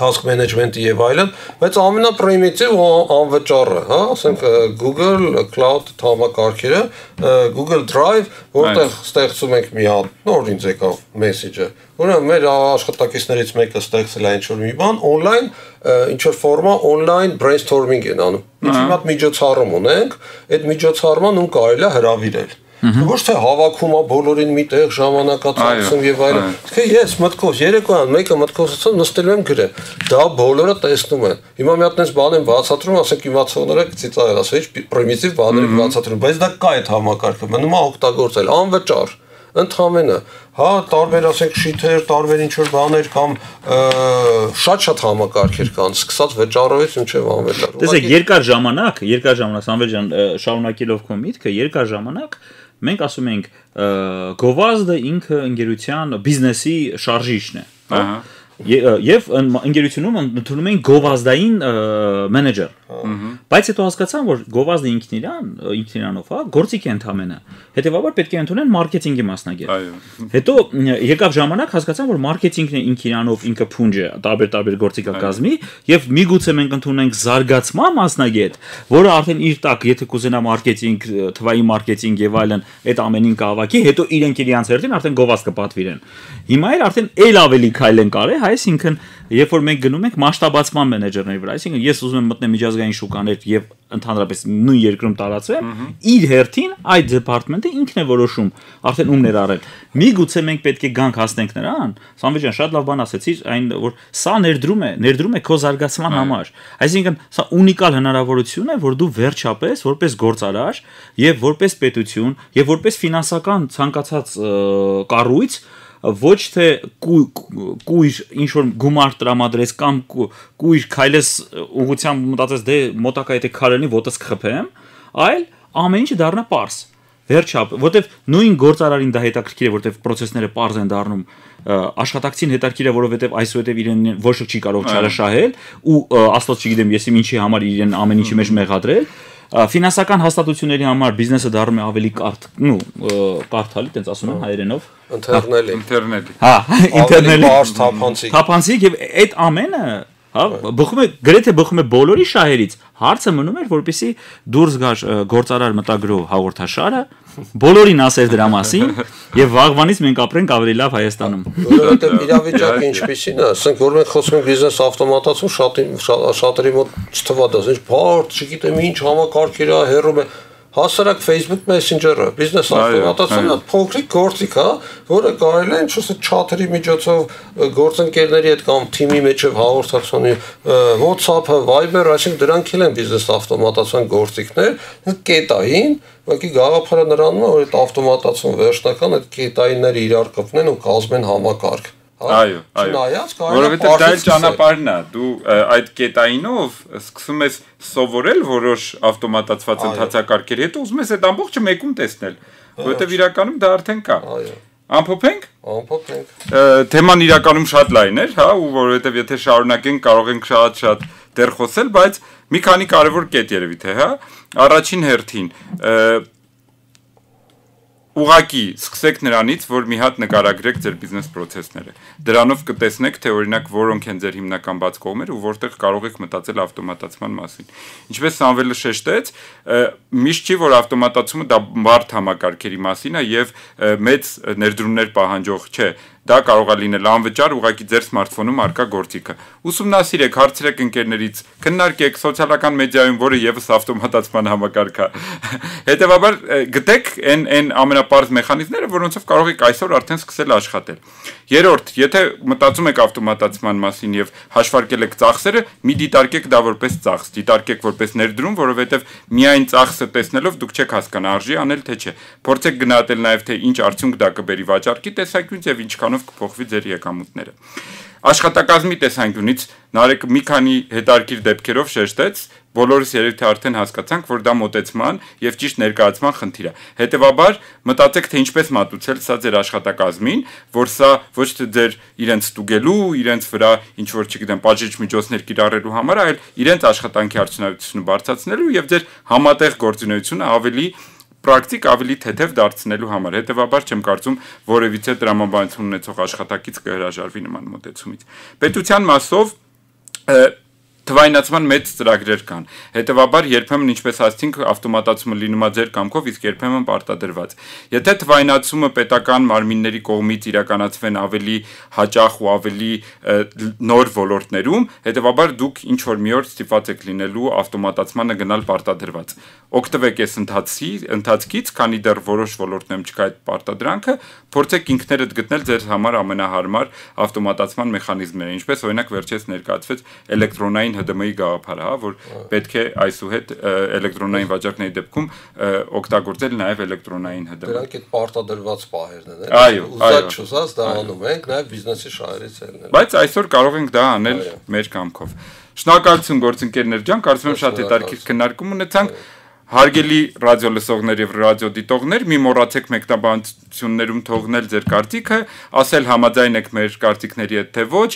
task management-ի եւ այլն, բայց ամենապրիմիտիվ ու անվճարը, հա, ասենք Google Cloud համակարգերը, Google Drive, որտեղ ստեղծում ենք մի հատ, նոր ինձ եկավ մեսեջը, ուրեմն մեր աշխատակիցներից մեկը ստեղծել է ինչ-որ մի բան, on-line, ինչ-որ ֆորմա on-line brainstorming են անում։ Ինչ մի հատ միջոցառում ունենք, այդ միջոցառման ում կարելի է հրավիրել։ Ոչ թե հավաքում է բոլորին միտեղ ժամանակացույցում եւ այլն։ Թե ես մտքով երեկոյան մեկը մտքովսացում նստելու եմ գրել։ Դա բոլորը տեսնում են։ Հիմա մի հատ այնպես բան եմ բացատրում, ասենք իմացողները ծիծաղել, ասել ինչ պրիմիտիվ բաներ եմ բացատրում, բայց դա կա այդ համակարգը, մնում է օգտագործել անվճար։ Ընդհանրապես, հա, տարբեր ասենք շիթեր, տարբեր ինչ որ բաներ կամ շատ-շատ համակարգեր կան, սկսած վճարովից մինչև անվճար։ Տեսեք, երկար ժամանակ, երկար ժամանակ Սամվել ջան, շարունակելով քո միտքը, երկար ժամանակ մենք ասում ենք գովազդը ինքը ընկերության բիզնեսի շարժիչն է, հա։ Եվ ընկերությունում ընդունում են գովազդային մենեջեր։ Բայց հետո հասկացան, որ գովազդը ինքն իրան, ինքն իրանով, հա, գործիք է ընդամենը։ Հետևաբար պետք է ընդունեն մարքեթինգի մասնագետ։ Հետո եկավ ժամանակ, հասկացան, որ մարքեթինգն է ինքն իրանով, ինքը փունջ է, տարբեր-տարբեր գործիքակազմի, եւ միգուցե մենք ընդունենք զարգացման մասնագետ, որը արդեն իր տակ, եթե կուզենա մարքեթինգ, թվային մարքեթինգ եւ այլն, այդ ամենին կհավաքի, հետո իրենք իրենց հերթին արդեն գովազդ կպատվիրեն։ Հիմա էլ արդեն էլ ավելի քայլ են կարել, այսինքն երբ որ մենք գնում ենք մասշտաբացման մենեջերների վրա, այսինքն ես ուզում եմ մտնել միջազգային շուկաներ եւ ընդհանրապես նույն երկրում տարածվեմ, իր հերթին այդ դեպարտամենտը ինքն է որոշում, արդեն ում ներառել։ Միգուցե մենք պետք է գանք հասնենք նրան, Սամվել ջան, շատ լավ բան ասեցիր, այն որ սա ներդրում է, ներդրում է քո զարգացման համար։ Այսինքն սա ունիկալ հնարավորություն է, որ դու վերջապես որպես գործարար եւ որպես պետություն եւ որպես ֆինանսական ցանկացած կառույց ոչ թե կույր ինչ որ գումար տրամադրես կամ կույր քայլես ուղղությամբ մտածես դե մոտակա եթե քարենի ոտս կխփեմ, այլ ամեն ինչը դառնա պարզ։ Վերջապ, որտեվ նույն գործարարին դա հետաքրքիր է, որտեվ process-ները պարզ են դառնում, աշխատակցին հետաքրքիր է, որովհետև այսուհետև իրեն ոչ ոք չի կարող չարաշահել ու աստված չգիտեմ ես ինչի համար իրեն ամեն ինչի մեջ մեղադրել։ Ֆինանսական հաստատությունների համար բիզնեսը դառնում է ավելի կարդ, նու, կարդալի, տենց ասում են հայերենով։ Ինտերնելի, ինտերնելի։ Հա, ինտերնելի։ Բարձ թափանցիկ։ Թափանցիկ եւ այդ ամենը հա, բխում է գրեթե բխում է բոլորի շահերից։ Հարցը մնում էր, որպեսզի դուրս գար գործարար մտագրող հաղորդաշարը, բոլորին ասեր դրա մասին եւ վաղվանից մենք ապրենք ավելի լավ Հայաստանում։ Որովհետեւ իրավիճակը ինչպեսին է, ասենք որ մենք խոսում ենք բիզնես ավտոմատացում, շատ շատերի մոտ չթվա դա, ինչ բարդ, չգիտեմ ինչ համակարգեր է, հերում է հասարակ Facebook Messenger-ը, բիզնես ավտոմատացումը փոքրիկ գործիք է, որը կարելի է ինչ-որ չաթերի միջոցով գործընկերների հետ կամ թիմի միջև հաղորդակցանի WhatsApp-ը, Viber-ը, այսինքն դրանք էլ են բիզնես ավտոմատացման գործիքներ, կետային, ուղղակի գաղափարը նրանում է, որ այդ ավտոմատացումը վերջնական այդ կետայինները իրար կապնեն ու կազմեն համակարգ։ Այո, այո։ Որովհետև դա էլ ճանապարհն է։ Դու այդ կետայինով սկսում ես սովորել որոշ ավտոմատացված ընթացակարգերի հետ, ուզում ես այդ ամբողջը մեկում տեսնել, որովհետև իրականում դա արդեն կա։ Այո։ Ամփոփենք։ Ամփոփենք։ Թեման իրականում շատ լայն էր, հա, ու որովհետև եթե շարունակենք կարող ենք շատ-շատ դեռ խոսել, բայց մի քանի կարևոր կետ երևի թե, հա։ Առաջին հերթին ուղղակի սկսեք նրանից, որ մի հատ նկարագրեք ձեր բիզնես process-ները։ Դրանով կտեսնեք, թե օրինակ որոնք են ձեր հիմնական բաց կողմերը ու որտեղ կարող եք մտածել ավտոմատացման մասին։ Ինչպես Սամվելը շեշտեց, միշտ չի, որ ավտոմատացումը դա բարդ համակարգերի մասին է եւ մեծ ներդրումներ պահանջող չէ։ Դա կարող է լինել անվճար ուղղակի ձեր սմարթֆոնում արկա գործիքը։ Ուսումնասիրեք, հարցրեք ընկերներից, քննարկեք սոցիալական մեդիայում, որը եւս ավտոմատացման համակարգ է։ Հետևաբար գտեք այն այն ամենապարզ մեխանիզմները, որոնցով կարող եք այսօր արդեն սկսել աշխատել։ Երրորդ, եթե մտածում եք ավտոմատացման մասին եւ հաշվարկել եք ծախսերը, մի դիտարկեք դա որպես ծախս, դիտարկեք որպես ներդրում, որովհետեւ միայն ծախսը տեսնելով դուք չեք հասկանա արժի անել թե չէ։ Փորձեք գնահատել նաեւ թե ինչ արդյունք դա կբերի վաճառքի տեսանկյունից եւ ինչքանով կփոխվի ձեր եկամուտները։ Աշխատակազմի տեսանկյունից Նարեկը մի քանի հետարքիր դեպքերով շեշտեց, բոլորս երևի թե արդեն հասկացանք, որ դա մոտեցման եւ ճիշտ ներկայացման խնդիր է։ Հետևաբար մտածեք, թե ինչպես մատուցել սա ձեր աշխատակազմին, որ սա ոչ թե ձեր իրենց ստուգելու, իրենց վրա ինչ որ չգիտեմ, պատժիչ միջոցներ կիրառելու համար, այլ իրենց աշխատանքի արդյունավետությունը բարձրացնելու եւ ձեր համատեղ գործունեությունը ավելի պրակտիկ ավելի թեթև դարձնելու համար։ Հետևաբար չեմ կարծում որևիցե տրամաբանություն ունեցող աշխատակից կհրաժարվի նման մոտեցումից։ Պետության մասով թվայնացման մեծ ծրագրեր կան։ Հետևաբար երբեմն ինչպես ասացինք, ավտոմատացումը լինում է ձեր կամքով, իսկ երբեմն պարտադրված։ Եթե թվայնացումը պետական մարմինների կողմից իրականացվեն ավելի հաճախ ու ավելի նոր ոլորտներում, հետևաբար դուք ինչ որ մի օր ստիպված եք լինելու ավտոմատացմանը գնալ պարտադրված։ Օգտվեք այս ընթացի, ընթացքից, քանի դեռ որոշ ոլորտներում չկա այդ պարտադրանքը, փորձեք ինքներդ գտնել ձեր համար ամենահարմար ավտոմատացման մեխանիզմները, ինչպես օրինակ վերջերս ներկայացվեց էլեկտրոնային H D M-ի գաղափարը, հա, որ պետք է այսուհետ էլեկտրոնային վաճառքների դեպքում օգտագործել նաև էլեկտրոնային H D M։ Դրանք այդ պարտադրված պահերն են, այո, ուզած չուզած դա անում ենք, նաև բիզնեսի շահերից ելնել։ Բայց այսօր կարող ենք դա անել մեր կամքով։ Շնորհակալություն գործընկերներ ջան, կարծում եմ շատ հետաքրքիր քննարկում ունեցանք։ Հարգելի ռադիո լսողներ եւ ռադիո դիտողներ, մի մոռացեք մեկնաբանություններում թողնել ձեր կարծիքը, ասել համաձայն եք մեր կարծիքների հետ թե ոչ,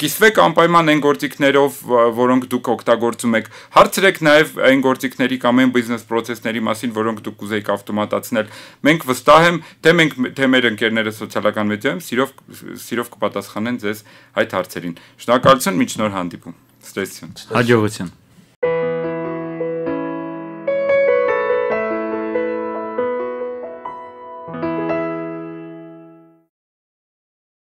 կիսվեք անպայման այն գործիքներով, որոնք դուք օգտագործում եք, հարցրեք նաեւ այն գործիքների կամ այն բիզնես process-ների մասին, որոնք դուք կուզեիք ավտոմատացնել։ Մենք վստահ եմ, թե մենք թե մեր ընկերները սոցիալական մեդիայում սիրով սիրով կպատասխանեն ձեզ այդ հարցերին։ Շնորհակալություն, մինչ նոր հանդիպում։ Ստեսություն։ Հաջողություն։